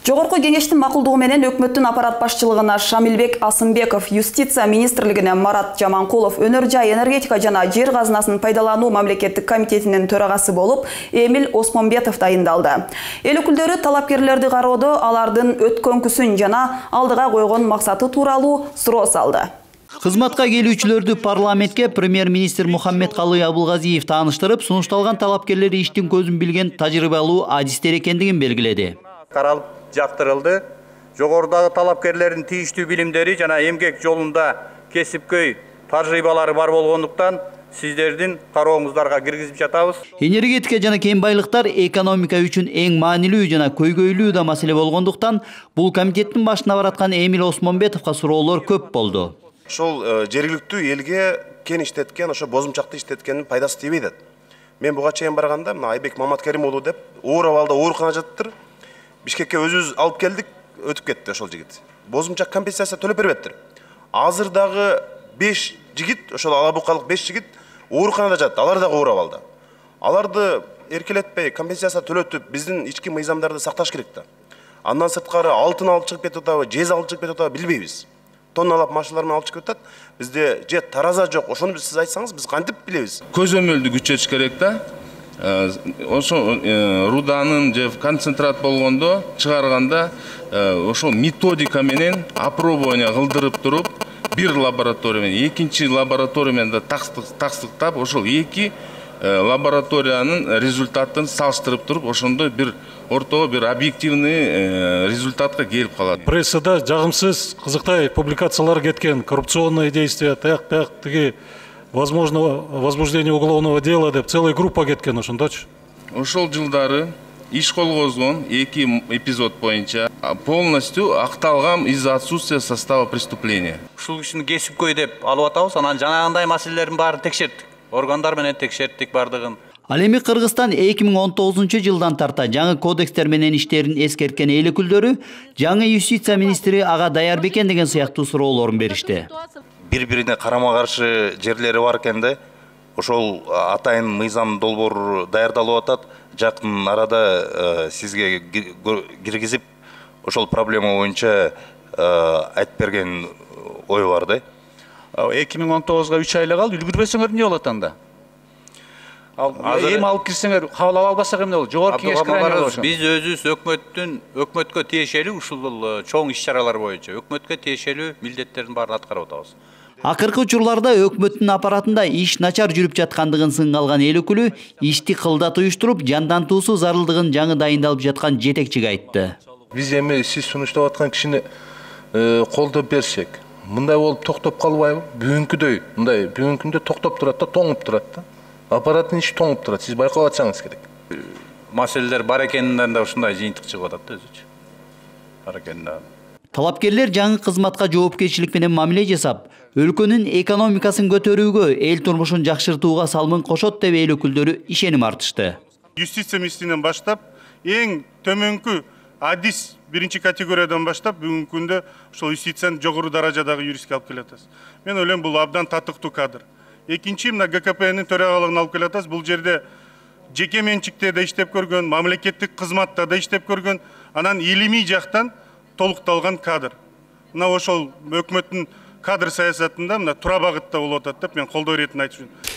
Жогорку Кеңештин макулдугу менен өкмөттүн аппарат башчылыгына Шамилбек Асымбеков, Юстиция министрлигине Марат Жаманкулов, Өнөр жай энергетика жана жер казынасын пайдалануу мамлекеттик комитетинин төрагасы болуп, Эмил Осмонбетов дайындалды. Эл өкүлдөрү талапкерлерди кароодо алардын өткөнкүсүн жана алдыга койгон максаты тууралуу суроо салды. Кызматка келүүчүлөрдү парламентке премьер-министр Мухаммедкалый Абылгазиев тааныштырып, сунушталган талапкерлер иштин көзүн билген тажрыйбалуу адистер экендигин белгиледи. Каралып жактырылды. Жогорудагы талапкерлердин тийиштүү билимдери жана эмгек жолунда кесипкөй тажрыйбалары бар болгондуктан сиздердин карооңуздарга киргизип жатабыз. Энергетика жана кен байлыктар экономика үчүн эң маанилүү жана көйгөйлүү да маселе болгондуктан бул комитеттин башына бараткан Эмил Осмонбетовго суроолор көп болду. Ошол жергиликтүү элге кен иштеткен, ошо бозумчакты иштеткендин пайдасы тийбейт атат. Мен буга чейин барганда мына Айбек Маматкерим уулу деп оор абалда ооруканада жатыптыр. Бишкекке өзүбүз алып келдик, өтүп кетти ошол жигит. Бозумчак компенсация төлөп бербептир. Азыр дагы 5 жигит, ошол алабукалык 5 жигит ооруканада жатат. Алар дагы оор абалда. Аларды эркелетпей компенсация төлөтүп, биздин ички мыйзамдарды сакташ керек да. Андан сырткары алтын алып чыгып кетип атабы, жез алып чыгып кетип атабы билбейбиз. Тонналап машиналар менен алып чыгып атат. Бизде же тараза жок, ошону сиз айтсаңыз биз кантип билебиз? Көзөмөлдү күчөтүш керек да. Ошо руданын же концентрат болгондо чыгарганда ошол методика менен опробование кылдырып туруп бир лаборатория менен экинчи лаборатория менен да таксыктап ошол эки лабораториянын результатын салыштырып туруп ошондой бир ортого бир объективный результатка келип калат. Прессада жагымсыз кызыктай публикациялар кеткен, коррупционные действия, тиги возможно возбуждение уголовного дела деп целая группа кеткен ошондочу. Ошол жылдары иш колгозгон 2 эпизод боюнча полностью акталган из-за отсутствия состава преступления. Ушул кишини кесипкөй деп алып атабыз, анан жанагындай маселелердин баарын текшерттик. Органдар менен текшерттик бардыгын. Ал эми Кыргызстан 2019-жылдан тарта жаңы кодекстер менен иштерин эскерткен эл өкүлдөрү жаңы юстиция министри Ага Даярбекен деген сыяктуу суроолорун беришти. Бири-бирине карама-каршы жерлери бар экен да. Ошол атайын мыйзам долбоор даярдалып атат. Жакын арада сизге киргизип, ошол проблема боюнча айтып берген ой бар да. 2019-га 3 айла калды, үлгүрбөсөңөр эмне болот анда? Эми алып кирсеңер, кабыл ала албасак эмне болот? Жогорку кеңеш карайын болот. Биз өзүбүз өкмөткө тиешелүү ушул чоң иш-чаралар боюнча өкмөткө тиешелүү милдеттердин баарын аткарып атабыз. Акыркы учурларда өкмөттүн аппаратында иш начар жүрүп жаткандыгын сынга алган эл өкүлү ишти кылдат уюштуруп, жандантуусу зарылдыгын жаңы дайындалып жаткан жетекчиге айтты. Биз эми сиз сунуштап аткан кишини колдоп берсек, мындай болуп токтоп калбайбы? Бүгүнкүдөй, мындай бүгүнкүндө токтоп турат да, тоңуп турат да. Аппараттын иши тоңуп турат. Сиз байкап атсаңыз керек. Маселелер бар экенинен да ушундай жыйынтык чыгып атат да өзүчө. Бар экенинен. Талапкерлер жаңы кызматка жоопкерчилик менен мамиле жасап, өлкөнүн экономикасын көтөрүүгө, эл турмушун жакшыртууга салмын кошот деп эл өкүлдөрү ишеним артышты. Юстиция министринен баштап, эң төмөнкү адис биринчи категориядан баштап бүгүнкү күндө ошол юстицияны жогору даражадагы юристке алып келатабыз. Мен ойлойм бул абдан татыктуу кадр. Экинчи мына ГКПнын төрагалыгын алып келатабыз. Бул жерде жеке менчикте да иштеп көргөн, мамлекеттик кызматта да иштеп көргөн, анан илимий жактан толукталган кадр. Мына ошол өкмөттүн кадр саясатында мына туура багытта болуп атат деп мен колдоо иретин айтып жүрмүн.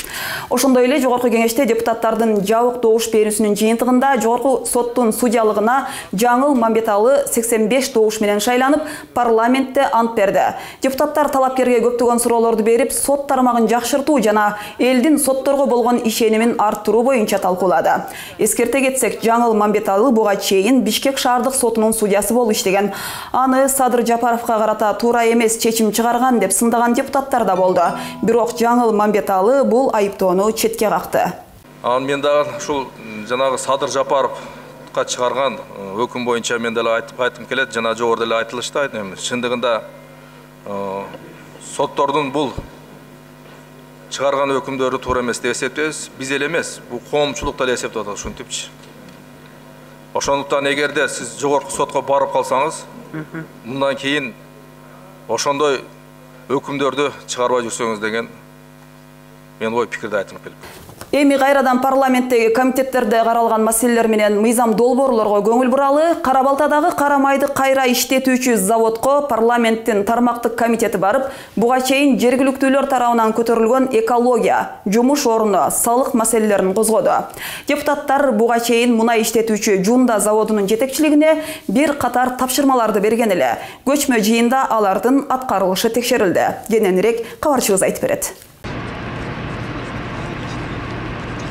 Ошондой эле жогорку кеңеште депутаттардын жабык добуш берүүсүнүн жыйынтыгында жогорку соттун судьялыгына Жаңыл Мамбеталы 85 добуш менен шайланып, парламентте ант берди. Депутаттар талапкерге көптөгөн суроолорду берип, сот тармагын жакшыртуу жана элдин сотторго болгон ишенимин арттыруу боюнча талкуулады. Эскерте кетсек, Жаңыл Мамбеталы буга чейин Бишкек шаардык сотунун судьясы болуп иштеген. Аны Садыр Жапаровго карата туура эмес чечим чыгарган деп сындаган депутаттар да болду. Бирок Жаңыл Мамбеталы бул айыптоону четке какты. Мен дагы ушул жанагы Садыр Жапаровга чыгарган өкүм боюнча мен деле айтып келет, жана жогоруда эле айтылышты. Чындыгында соттордун бул чыгарган өкүмдөрү туура эмес деп эсептейбиз. Биз эле эмес, бул коомчулук деле эсептеп атат ушинтипчи. Ошондуктан эгерде сиз жогорку сотко барып калсаңыз, мындан кийин ошондой өкүмдөрдү чыгарбай жүрсөңүз деген мен ой пикирди айтып келип. Эми кайрадан парламенттеги комитеттерде каралган маселелер менен мыйзам долбоорлорго көңүл буралы. Кара-Балтадагы кара майды кайра иштетүүчү заводко парламенттин тармактык комитети барып, буга чейин жергиликтүүлөр тарабынан көтөрүлгөн экология, жумуш орну, салык маселелерин козгоду. Депутаттар буга чейин мунай иштетүүчү Жунда заводунун жетекчилигине бир катар тапшырмаларды берген эле. Көчмө жыйында алардын аткарылышы текшерилди. Кененирээк кабарчыбыз айтып берет.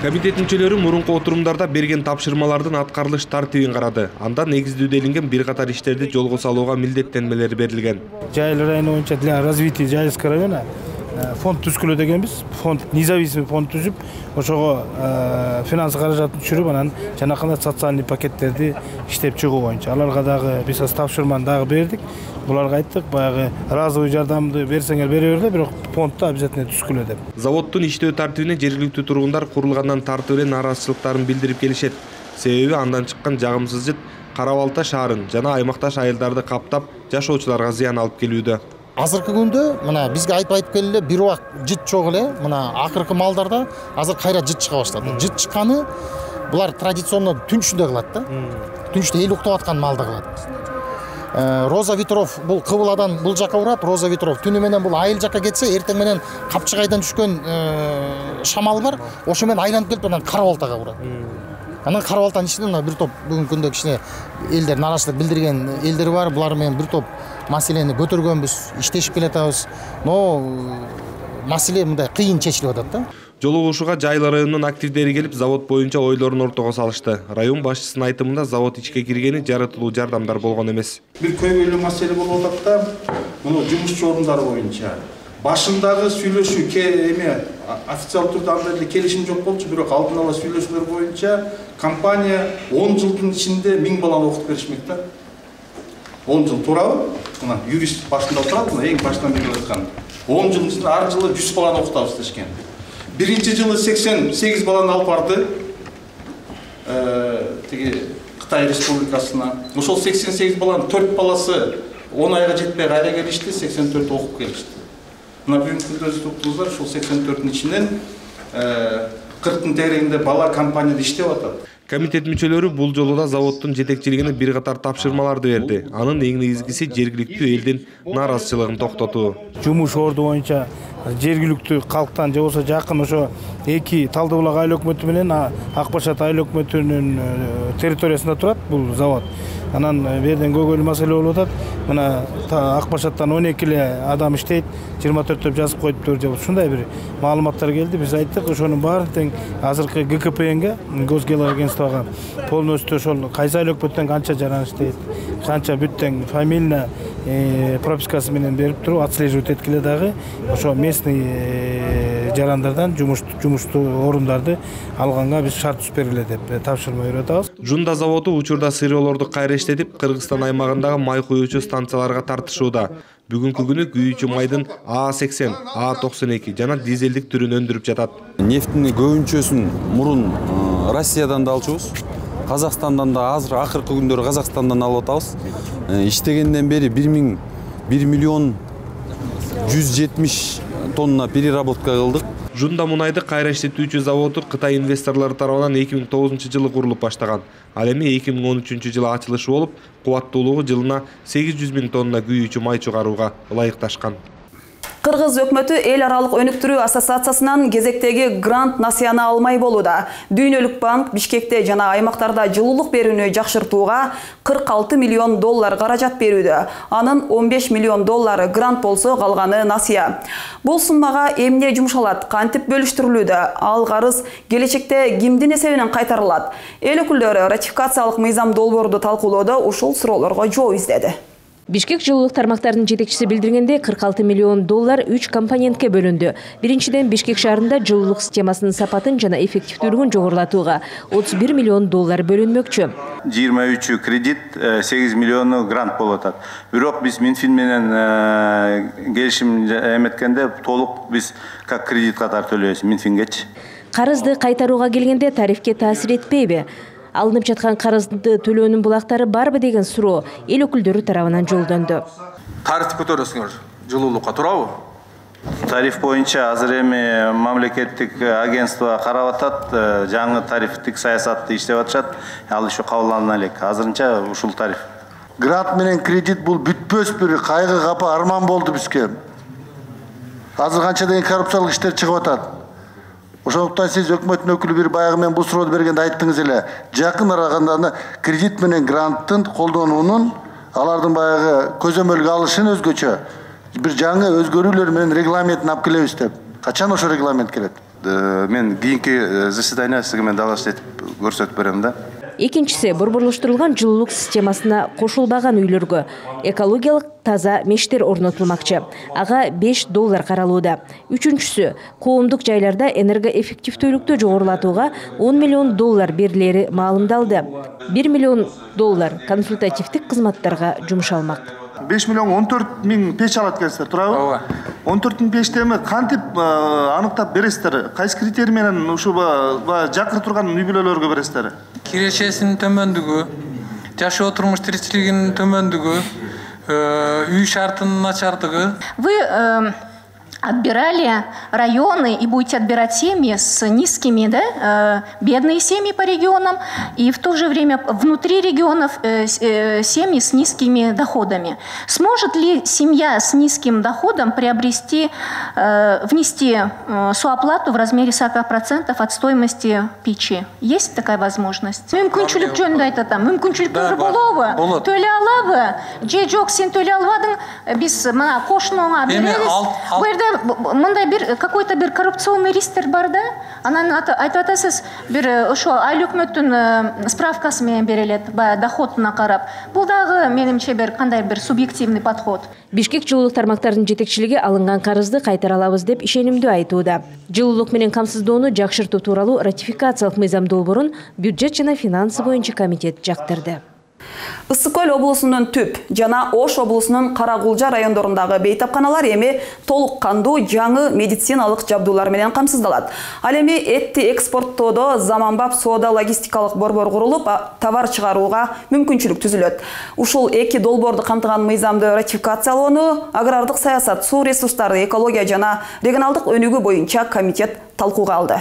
Комитет мүчөлөрү мурунку отурумдарда берген тапшырмалардын аткарылыш тартибин карады. Анда негиздүү делинген бир катар иштерди жолго салууга милдеттенмелер берилген. Жайыл району боюнча для развития Жайылского района фонд түзкүлө дегенбиз. Фонд независимый фонд түзүп, ошого финанс каражатын түшүрүп, анан жанакындай социальный пакеттерди иштеп чыгуу боюнча. Аларга дагы биз тапшырманы дагы бердик. Буларга айттык, баягы разовый жардамды берсеңер бере бер, бирок фондто обязательно түзкүлө деп. Заводдун иштөө тартибине жергиликтүү тургундар курулгандан тартып эле нааразычылыктарын билдирип келишет. Себеби андан чыккан жагымсыз жыт Кара-Балта шаарын жана аймакташ айылдарды каптап, жашоочуларга зыян алып келүүдө. Азыркы күндө мына бизге айтып келе бир убак жыт чок эле, мына акыркы малдарда азыр кайра жыт чыга баштады. Жыт чыкканы булар традиционно түн ичинде кылат да. Түн ичинде эл уктап аткан малда кылат. Роза ветров бул Кыбыладан бул жака урат, Роза ветров түнү менен бул айыл жака кетсе, эртең менен Капчыгайдан түшкөн шамал бар, ошо менен айланып келип анан Кара-Балтага урат. Анан Кара-Балтанын ичинде мына бир топ бүгүнкү күндө кичине элдер нааразычылык билдирген элдер бар, булар менен бир топ маселени көтөргөнбүз, иштешип келатабыз. Но маселе мындай кыйын чечилип атат да. Жолугушууга Жайыл районунун активдери келип, завод боюнча ойлорун ортого салышты. Район башчысынын айтымында завод ичке киргени жаратылуу жардамдар болгон эмес. Бир көйгөйлүү маселе болуп атат да, муну жумушчу орундары боюнча. Башындагы сүйлөшүү официалдуу түрдө андай эле келишим жок болчу, бирок алдын ала сүйлөшүүлөр боюнча компания 10 жылдын ичинде 1000 баланы окутуп беришмек да. 10 жыл туурабы? Мына юрист башында турат, мына эң башынан бери айткан. 10 жылдын ичинде ар жылы 100 баланы окутабыз дешкен. Биринчи жылы 88 баланы алып барды. Тиги Кытай Республикасына. Ошол 88 баланын 4 баласы 10 айга жетпей кайра келишти, 84 окуп келишти. Мына бүгүнкү күндө өз туктуздар ушул 84-ün ичинен 40-тын тегерегинде бала компанияда иштеп атат. Комитет мүчөлөрү бул жолу да заводдун жетекчилигине бир катар тапшырмаларды берди. Анын эң негизгиси жергиликтүү элдин нааразычылыгын токтотуу. Жумуш орду боюнча жергиликтүү калктан же болбосо жакын ошо эки Талды булак айыл өкмөтү менен Ак Башат айыл өкмөтүнүн территориясында турат бул завод. Анан берден көйгөйлүү маселе болуп атат. Мына Ак Башаттан 12 эле адам иштейт, 24 деп жазып коюптур же ушундай бир маалыматтар келди. Биз айттык, ошонун баарын тең азыркы ГКПНге, Госгеоагентствого полностью ошол кайсы айыл өкмөттөн канча жаран иштейт, канча бүттең фамилия пропискасы менен берип туруп отслеживать эткиле дагы ошо местный жарандардан жумуштуу орундарды алганга биз шарт түзүп бергиле деп тапшырма берип атабыз. Жунда заводу учурда сыйроолорду кайра иштетип, Кыргызстан аймагындагы май куюучу станцияларга тартышууда. Бүгүнкү күнү күйүүчү майдын А80, А92 жана дизелдик түрүн өндүрүп жатат. Нефтини көбүнчөсүн мурун Россиядан да алчубуз. Казакстандан да азыр акыркы күндөрү Казакстандан алып атабыз. Иштегенден бери 1 миллион 170 тонна переработка кылдык. Жунда мунайды кайра иштетүүчү заводу Кытай инвесторлору тарабынан 2009-жылы курулуп баштаган. Ал эми 2013-жылы ачылышы болуп, кубаттуулугу жылына 800 000 тонна күйүүчү май чыгарууга ылайыкташкан. Кыргыз өкмөтү эл аралык өнүктүрүү ассоциациясынан кезектеги грант насыяны алмай болууда. Дүйнөлүк банк Бишкекте жана аймактарда жылуулук берүүнү жакшыртууга 46 миллион доллар каражат берүүдө. Анын 15 миллион доллары грант болсо, калганы насыя. Бул суммага эмне жумшалат, кантип бөлүштүрүлүүдө? Ал карыз келечекте кимдин эсебинен кайтарылат? Эл өкүлдөрү ратификациялык мыйзам долбоорду талкуулоодо ушул суроолорго жооп издеди. Бишкек жылуулук тармактарынын жетекчиси билдиргенде 46 миллион доллар 3 компонентке бөлүндү. Биринчиден, Бишкек шаарында жылуулук системасынын сапатын жана эффективдүүлүгүн жогорулатууга 31 миллион доллар бөлүнмөкчү. 23 кредит, 8 миллиону грант болуп атат. Бирок биз Минфин менен келишим эметкенде толук биз как кредит катары төлөйбүз Минфингечи. Карызды кайтарууга келгенде тарифке таасир этпейби? Алынып жаткан карызды төлөөнүн булактары барбы деген суроо эл өкүлдөрү тарабынан жолдонду. Тарифти көтөрөсүңөр жылуулукка туурабы? Тариф боюнча азыр эми мамлекеттик агентство карап атат, жаңы тарифтик саясатты иштеп атышат. Ал ошо кабылдана элек. Азырынча ушул тариф. Грант менен кредит бул бүтпөс бир кайгы капа арман болду бизге. Азыр канча деген коррупциялык иштер чыгып атат. Ошондуктан сиз өкмөттүн өкүлү бир баягы мен бул сурооду бергенде айттыңыз эле. Жакын араганда кредит менен гранттын колдонуунун алардын баягы көзөмөлгө алышын өзгөчө бир жаңы өзгөрүүлөр менен регламентин алып келебиз деп. Качан ошо регламент келет? Мен кийинки заседание сизге мен дагы этип көрсөтүп берем да. Экинчиси, борборлоштурулган жылуулук системасына кошулбаган үйлөргө экологиялык таза мештер орнотулмакчы. Ага 5 доллар каралууда. Үчүнчүсү, коомдук жайларда энергоэффективдүүлүктү жогорулатууга 10 миллион доллар берилери маалымдалды. 1 миллион доллар консультативдик кызматтарга жумшалмак. 5 миллион 14 миң печ алат экенсиздер, туурабы? Ооба. 14 миң печти эми кантип аныктап бересиздер? Кайсы критерий менен ушул жакыр турган үй бүлөлөргө бересиздер? Кирешесинин төмөндүгү, жашоо турмуш тиричилигинин төмөндүгү, үй шартынын начардыгы. Вы отбирали районы и будете отбирать семьи с низкими, да, бедные семьи по регионам, и в то же время внутри регионов семьи с низкими доходами. Сможет ли семья с низким доходом приобрести, внести соплату в размере 40% от стоимости печи? Есть такая возможность? Мүмкүнчүлүк жөнүндө айтатам. Мүмкүнчүлүктөр болобу? Төлөй алабы? Же жок, сен төлөй албадың, биз мына кошунуңа беребиз. Бу жерде мындай бир какой-то бир коррупционный ристтер бар да. Анан айтып атасыз, бир ошо айыл өкмөттүн справкасы менен берилет, баягы доходуна карап. Бул дагы менимче бир кандай бир субъективный подход. Бишкек жылуулук тармактарынын жетекчилиги алынган карызды кайтара алабыз деп ишенимдүү айтууда. Жылуулук менен камсыздоону жакшыртуу тууралуу ратификациялык мыйзам долбоорун бюджет жана финансы боюнча комитет жактырды. Ысык Көл облусунун Түп жана Ош облусунун Каракулжа райондорундагы бейтапканалар эми толук кандуу жаңы медициналык жабдуулар менен камсыздалат. Ал эми этти экспорттоодо заманбап соода логистикалык борбор курулуп, товар чыгарууга мүмкүнчүлүк түзүлөт. Ушул эки долбоорду камтыган мыйзамды ратификациялоону агрардык саясат, суу ресурстары, экология жана регионалдык өнүгүү боюнча комитет талкууга алды.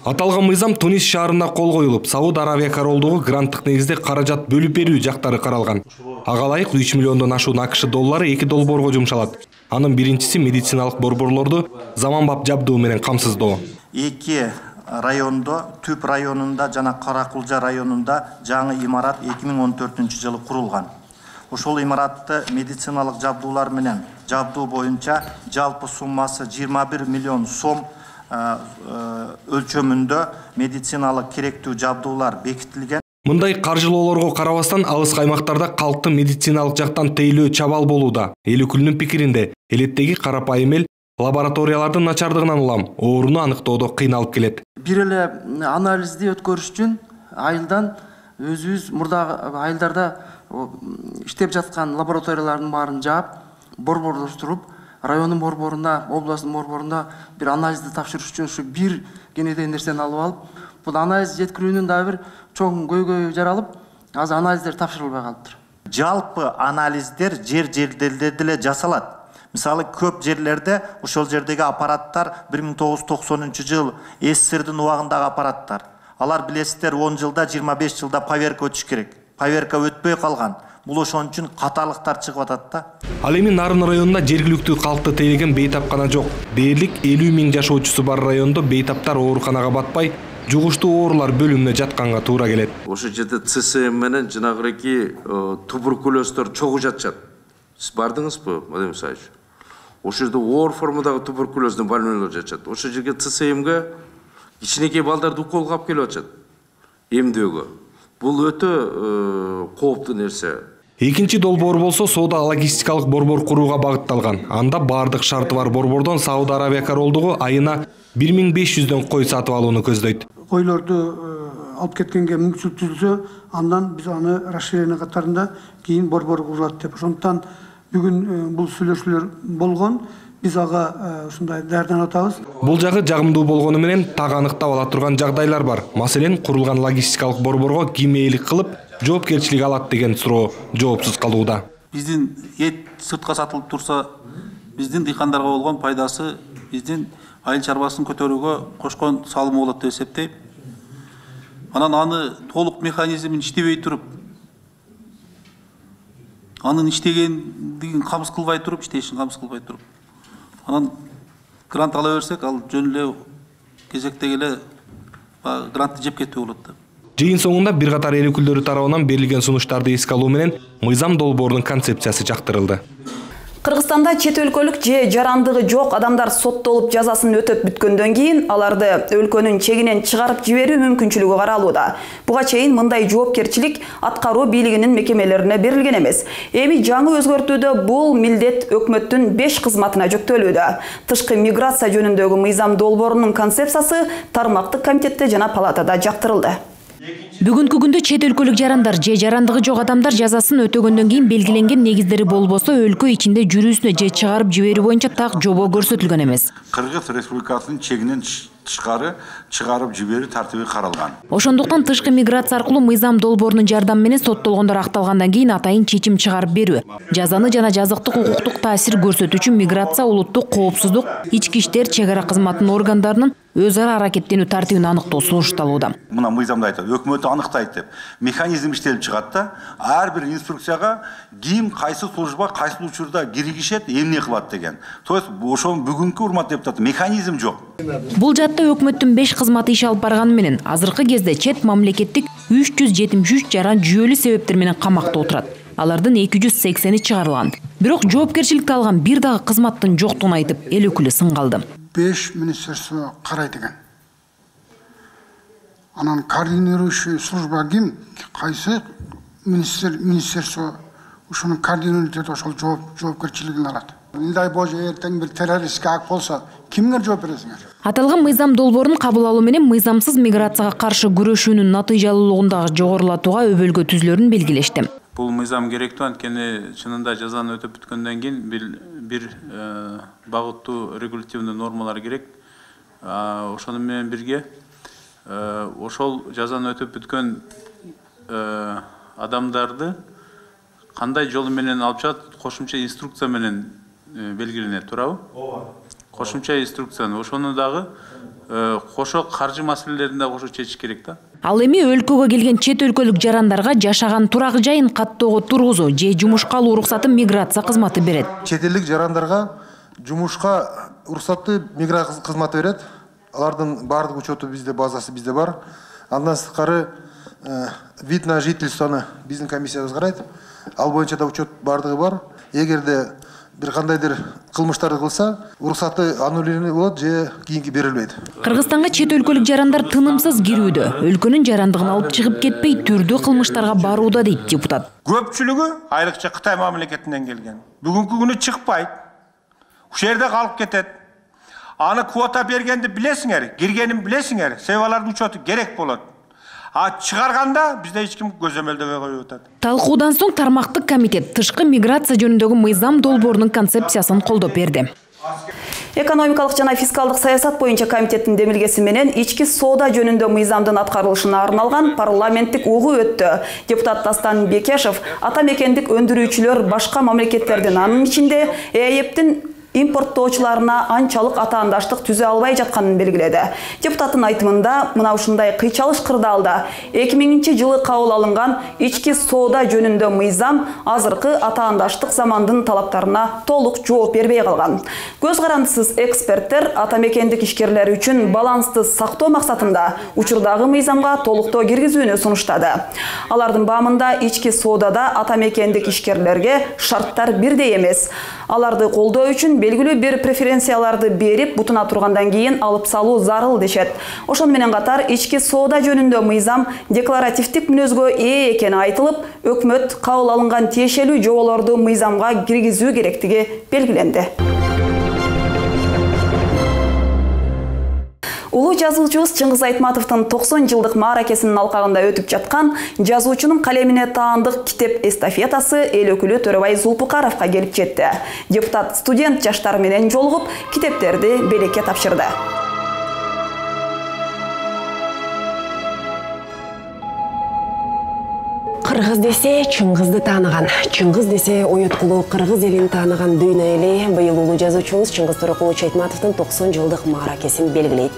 Аталган мыйзам Тунис шаарында кол коюлуп, Сауд Арабия королдугу гранттык негизде каражат бөлүп берүү жактары каралган. Ага ылайык 3 миллиондон ашуун АКШ доллары эки долбоорго жумшалат. Анын биринчиси медициналык борборлорду заманбап жабдуу менен камсыздоо. Эки райондо, Түп районунда жана Каракулжа районунда жаңы имарат 2014-жылы курулган. Ошол имаратты медициналык жабдуулар менен жабдуу боюнча жалпы суммасы 21 миллион сом өлчөмүндө медициналык керектүү жабдуулар бекитилген. Мындай каржылоолорго карабастан алыс аймактарда калктын медициналык жактан тейлөө чабал болууда. Эл өкүлүнүн пикиринде, элеттеги карапайым эл лабораториялардын начардыгынан улам ооруну аныктоодо кыйналып келет. Бир эле анализди өткөрүш үчүн айылдан өзүбүз мурдагы айылдарда иштеп жаткан лабораториялардын баарын жаап, борборлоштуруп, райондун борборуна, областтын борборуна бир анализди тапшырыш үчүн ушу бир кенеден нерсени алып алып, бул анализ жеткирүүнүн да бир чоң көйгөйү жаралып, азыр анализдер тапшырылбай калыптыр. Жалпы анализдер жер-жерлерде деле жасалат. Мисалы көп жерлерде ошол жердеги аппараттар 1990-жыл СССРдин убагындагы аппараттар. Алар билесиздер 10 жылда, 25 жылда поверка өтүш керек. Поверка өтпөй калган. Бул ошон үчүн катарлыктар чыгып атат да. Ал эми Нарын районунда жергиликтүү калкты тейлеген бейтапкана жок. Дээрлик 50 000 жашоочусу бар райондо бейтаптар ооруканага батпай, жугуштуу оорулар бөлүмүнө жатканга туура келет. Ошол жерде ЦСМ менен жанагыки туберкулездор чогуу жатышат. Сиз бардыңызбы, Владимир Исаевич? Ошол жерде оор формадагы туберкулездин больнойлор жатышат. Ошол жерге ЦСМге кичинекей балдарды уколго алып келип атышат. Эмдөөгө. Бул өтө кооптуу нерсе. Экинчи долбоор болсо соода логистикалык борбор курууга багытталган. Анда бардык шарты бар борбордон Сауд Арабия королдугу айына 1500дөн кой сатып алууну көздөйт. Койлорду алып кеткенге мүмкүнчүлүк түзүлсө, андан биз аны расширение катарында кийин борбор курулат деп. Ошондуктан бүгүн бул сүйлөшүүлөр болгон. Биз ага ушундай даярданып атабыз. Бул жагы жагымдуу болгону менен так аныктап ала турган жагдайлар бар. Маселен, курулган логистикалык борборго ким ээлик кылып, жоопкерчилик алат деген суроо жоопсуз калууда. Биздин эт сыртка сатылып турса, биздин дыйкандарга болгон пайдасы биздин айыл чарбасын көтөрүүгө кошкон салымы болот деп эсептейм. Анан аны толук механизмин иштебей туруп, анын иштегендигин камсыз кылбай туруп, иштешин камсыз кылбай туруп, анан грант ала берсек, ал жөн эле кезекте эле грантты жеп кетүү болот да. Жыйын соңунда бир катар эл өкүлдөрү тарабынан берилген сунуштарды эске алуу менен мыйзам долбоорунун концепциясы жактырылды. Кыргызстанда чет өлкөлүк же жарандыгы жок адамдар соттолуп жазасын өтөп бүткөндөн кийин аларды өлкөнүн чегинен чыгарып жиберүү мүмкүнчүлүгү каралууда. Буга чейин мындай жоопкерчилик аткаруу бийлигинин мекемелерине берилген эмес. Эми жаңы өзгөртүүдө бул милдет өкмөттүн 5 кызматына жүктөлүүдө. Тышкы миграция жөнүндөгү мыйзам долбоорунун концепциясы тармактык комитетте жана палатада жактырылды. Бүгүнкү күндө чет өлкөлүк жарандар же жарандыгы жок адамдар жазасын өтөгөндөн кийин белгиленген негиздери болбосо өлкө ичинде жүрүүсүнө же чыгарып жиберүү боюнча так жобо көрсөтүлгөн эмес. Кыргыз Республикасынын чегинен тышкары чыгарып жиберүү тартиби каралган. Ошондуктан тышкы миграция аркылуу мыйзам долбоорунун жардамы менен соттолгондор акталгандан кийин атайын чечим чыгарып берүү, жазаны жана жазыктык укуктук таасир көрсөтүү үчүн миграция, улуттук коопсуздук, ички иштер, чек ара кызматынын органдарынын өз ара аракеттенүү тартибин аныктоо сунушталууда. Мына мыйзамда айтат, өкмөт аныктайт деп. Механизм иштелип чыгат да, ар бир инструкцияга ким кайсы служба кайсы учурда киргишет, эмне кылат деген. То есть ошол бүгүнкү урматтуу депутат механизм жок. Бул жатта өкмөттүн 5 кызматы иш алып барганы менен азыркы кезде чет мамлекеттик 373 жаран жүйөлүү себептер менен камакта отурат. Алардын 280 чыгарылган. Бирок жоопкерчиликти алган бир дагы кызматтын жоктугун айтып, эл өкүлү сын калды. 5 министерство карайт экен. Анан координирующий служба ким? Кайсы министерство ушунун координатор ошол жоопкерчилигин алат. Не дай Боже, эртең бир террористке ак болсо, кимге жооп бересиңер? Аталган мыйзам долбоорун кабыл алуу менен мыйзамсыз миграцияга каршы күрөшүүнүн натыйжалуулугун дагы жогорулатууга өбөлгө түзүлөрүн белгилешти. Бул мыйзам керектүү, анткени чынында жазаны өтөп бүткөндөн кийин бир багыттуу регулятивдүү нормалар керек. Ошону менен бирге ошол жазаны өтөп бүткөн адамдарды кандай жолу менен алып чыгат, кошумча инструкция менен белгиленет, туурабы? Кошумча инструкцияны, ошону дагы кошо каржы маселелерин да кошо чечиш керек да. Ал эми өлкөгө келген чет өлкөлүк жарандарга жашаган турак жайын каттоого тургузуу же жумушка алуу уруксаты миграция кызматы берет. Чет элдик жарандарга жумушка уруксатты миграция кызматы берет. Алардын баардык учету бизде, базасы бизде бар. Андан сырткары вид на жительствону биздин комиссиябыз карайт. Ал боюнча да учет баардыгы бар. Эгерде бир кандайдыр кылмыштарды кылса, уруксаты аннулирование болот же кийинки берилбейт. Кыргызстанга чет өлкөлүк жарандар тынымсыз кирүүдө, өлкөнүн жарандыгын алып чыгып кетпей, түрдүү кылмыштарга барууда дейт депутат. Көпчүлүгү айрыкча Кытай мамлекетинен келген. Бүгүнкү күнү чыкпайт. Ушул жерде калып кетет. Аны квота бергенди билесиңер, киргенин билесиңер, себебалардын учету керек болот. Чыгарганда бизде эч ким көзөмөлдөбөй коюп атат. Талкуудан соң тармактык комитет тышкы миграция жөнүндөгү мыйзам долбоорунун концепциясын колдоп берди. Экономикалык жана фискалдык саясат боюнча комитеттин демилгеси менен ички соода жөнүндө мыйзамдын аткарылышына арналган парламенттик угуу өттү. Депутат Дастан Бекешев ата мекендик өндүрүүчүлөр башка мамлекеттердин, анын ичинде ЭЭПтин импорттоочуларына анчалык атаандаштык түзө албай жатканын белгиледи. Депутаттын айтымында мына ушундай кыйчалыш кырдаалда 2000-жылы кабыл алынган ички соода жөнүндө мыйзам азыркы атаандаштык замандын талаптарына толук жооп бербей калган. Көз карандысыз эксперттер ата мекендик ишкерлер үчүн балансты сактоо максатында учурдагы мыйзамга толуктоо киргизүүнү сунуштады. Алардын баамында ички соодада ата мекендик ишкерлерге шарттар бирдей эмес. Аларды колдоо үчүн белгилүү бир преференцияларды берип, бутуна тургандан кийин алып салуу зарыл дешет. Ошону менен катар ички соода жөнүндө мыйзам декларативдик мүнөзгө ээ экени айтылып, өкмөт кабыл алынган тиешелүү жоболорду мыйзамга киргизүү керектиги белгиленди. Улуу жазуучубуз Чыңгыз Айтматовдун 90 жылдык мааракесинин алкагында өтүп жаткан жазуучунун калемине таандык китеп эстафетасы эл өкүлү Төрөбай Зулпукаровго келип жетти. Депутат студент жаштар менен жолугуп, китептерди белекке тапшырды. Кыргыз десе Чыңгызды тааныган, Чыңгыз десе ойоткулуу кыргыз элин тааныган дүйнө эли быйыл улуу жазуучубуз Чыңгыз Торокулович Айтматовдун 90 жылдык мааракесин белгилейт.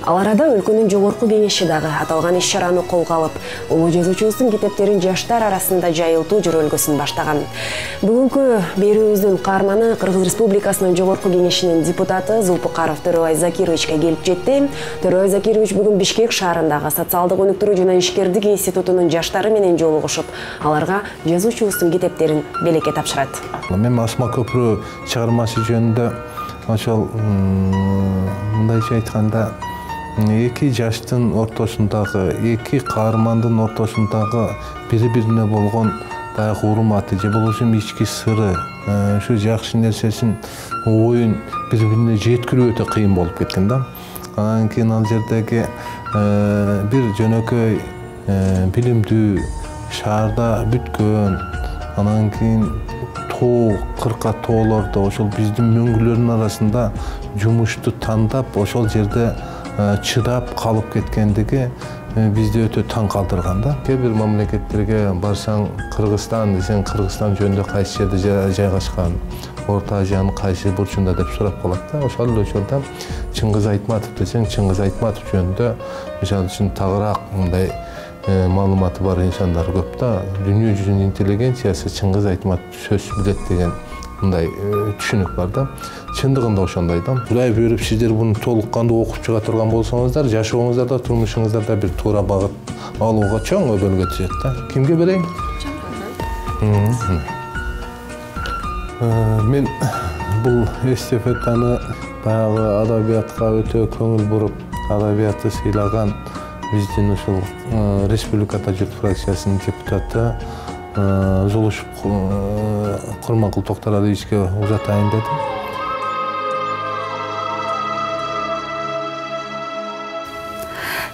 Ал арада өлкөнүн жогорку кеңеши дагы аталган иш-чараны колго алып, улуу жазуучубуздун китептерин жаштар арасында жайылтуу жөрөлгөсүн баштаган. Бүгүнкү берүүбүздүн каарманы Кыргыз Республикасынын жогорку кеңешинин депутаты Зулпукаров Төрөбай Закировичке келип жетти. Төрөбай Закирович бүгүн Бишкек шаарындагы социалдык өнүктүрүү жана ишкердик институтунун жаштары менен жолугушуп, аларга жазуучубуздун китептерин белекке тапшырат. Мен Асма көпүрө чыгармасы жөнүндө ошол мындайча айтканда эки жаштын ортосундагы, эки каармандын ортосундагы бири-бирине болгон баягы урматы же болбосо ички сыры, ушу жакшы нерсесин, оюн бири-бирине жеткирүү өтө кыйын болуп кеткен да. Анан кийин ал жердеги бир жөнөкөй билимдүү шаарда бүткөн, анан кийин тоо, кырка тоолордо ошол биздин мөңгүлөрдүн арасында жумушту тандап, ошол жерде чыдап калып кеткендиги бизди өтө таң калтырган да. Кээ бир мамлекеттерге барсаң, Кыргызстан десең, Кыргызстан жөнүндө кайсы жерде жайгашкан, Орто Азиянын кайсы бурчунда деп сурап калат да. Ошол эле учурда Чыңгыз Айтматов десең, Чыңгыз Айтматов жөнүндө мисалы үчүн тагыраак мындай маалыматы бар инсандар көп да. Дүйнө жүзүнүн интеллигенциясы Чыңгыз Айтматов сөз билет деген мындай түшүнүк бар да. Чындыгында ошондой да. Кудай буйруп сиздер буну толук кандуу окуп чыга турган болсоңуздар, жашооңуздарда, турмушуңуздарда бир туура багыт алууга чоң өбөлгө түзөт да. Кимге берейин? Мен бул эстафетаны баягы адабиятка өтө көңүл буруп, адабиятты сыйлаган биздин ушул республикада журт фракциясынын депутаты Зулушев Курманкул Токторадовичке узатайын дедим.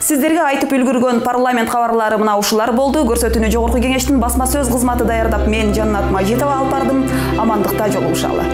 Сиздерге айтып үлгүргөн парламент кабарлары мына ушулар болду. Көрсөтүүнү жогорку кеңештин басма сөз кызматы даярдап, мен Жаннат Мажитова алып бардым. Амандыкта жолугушалы.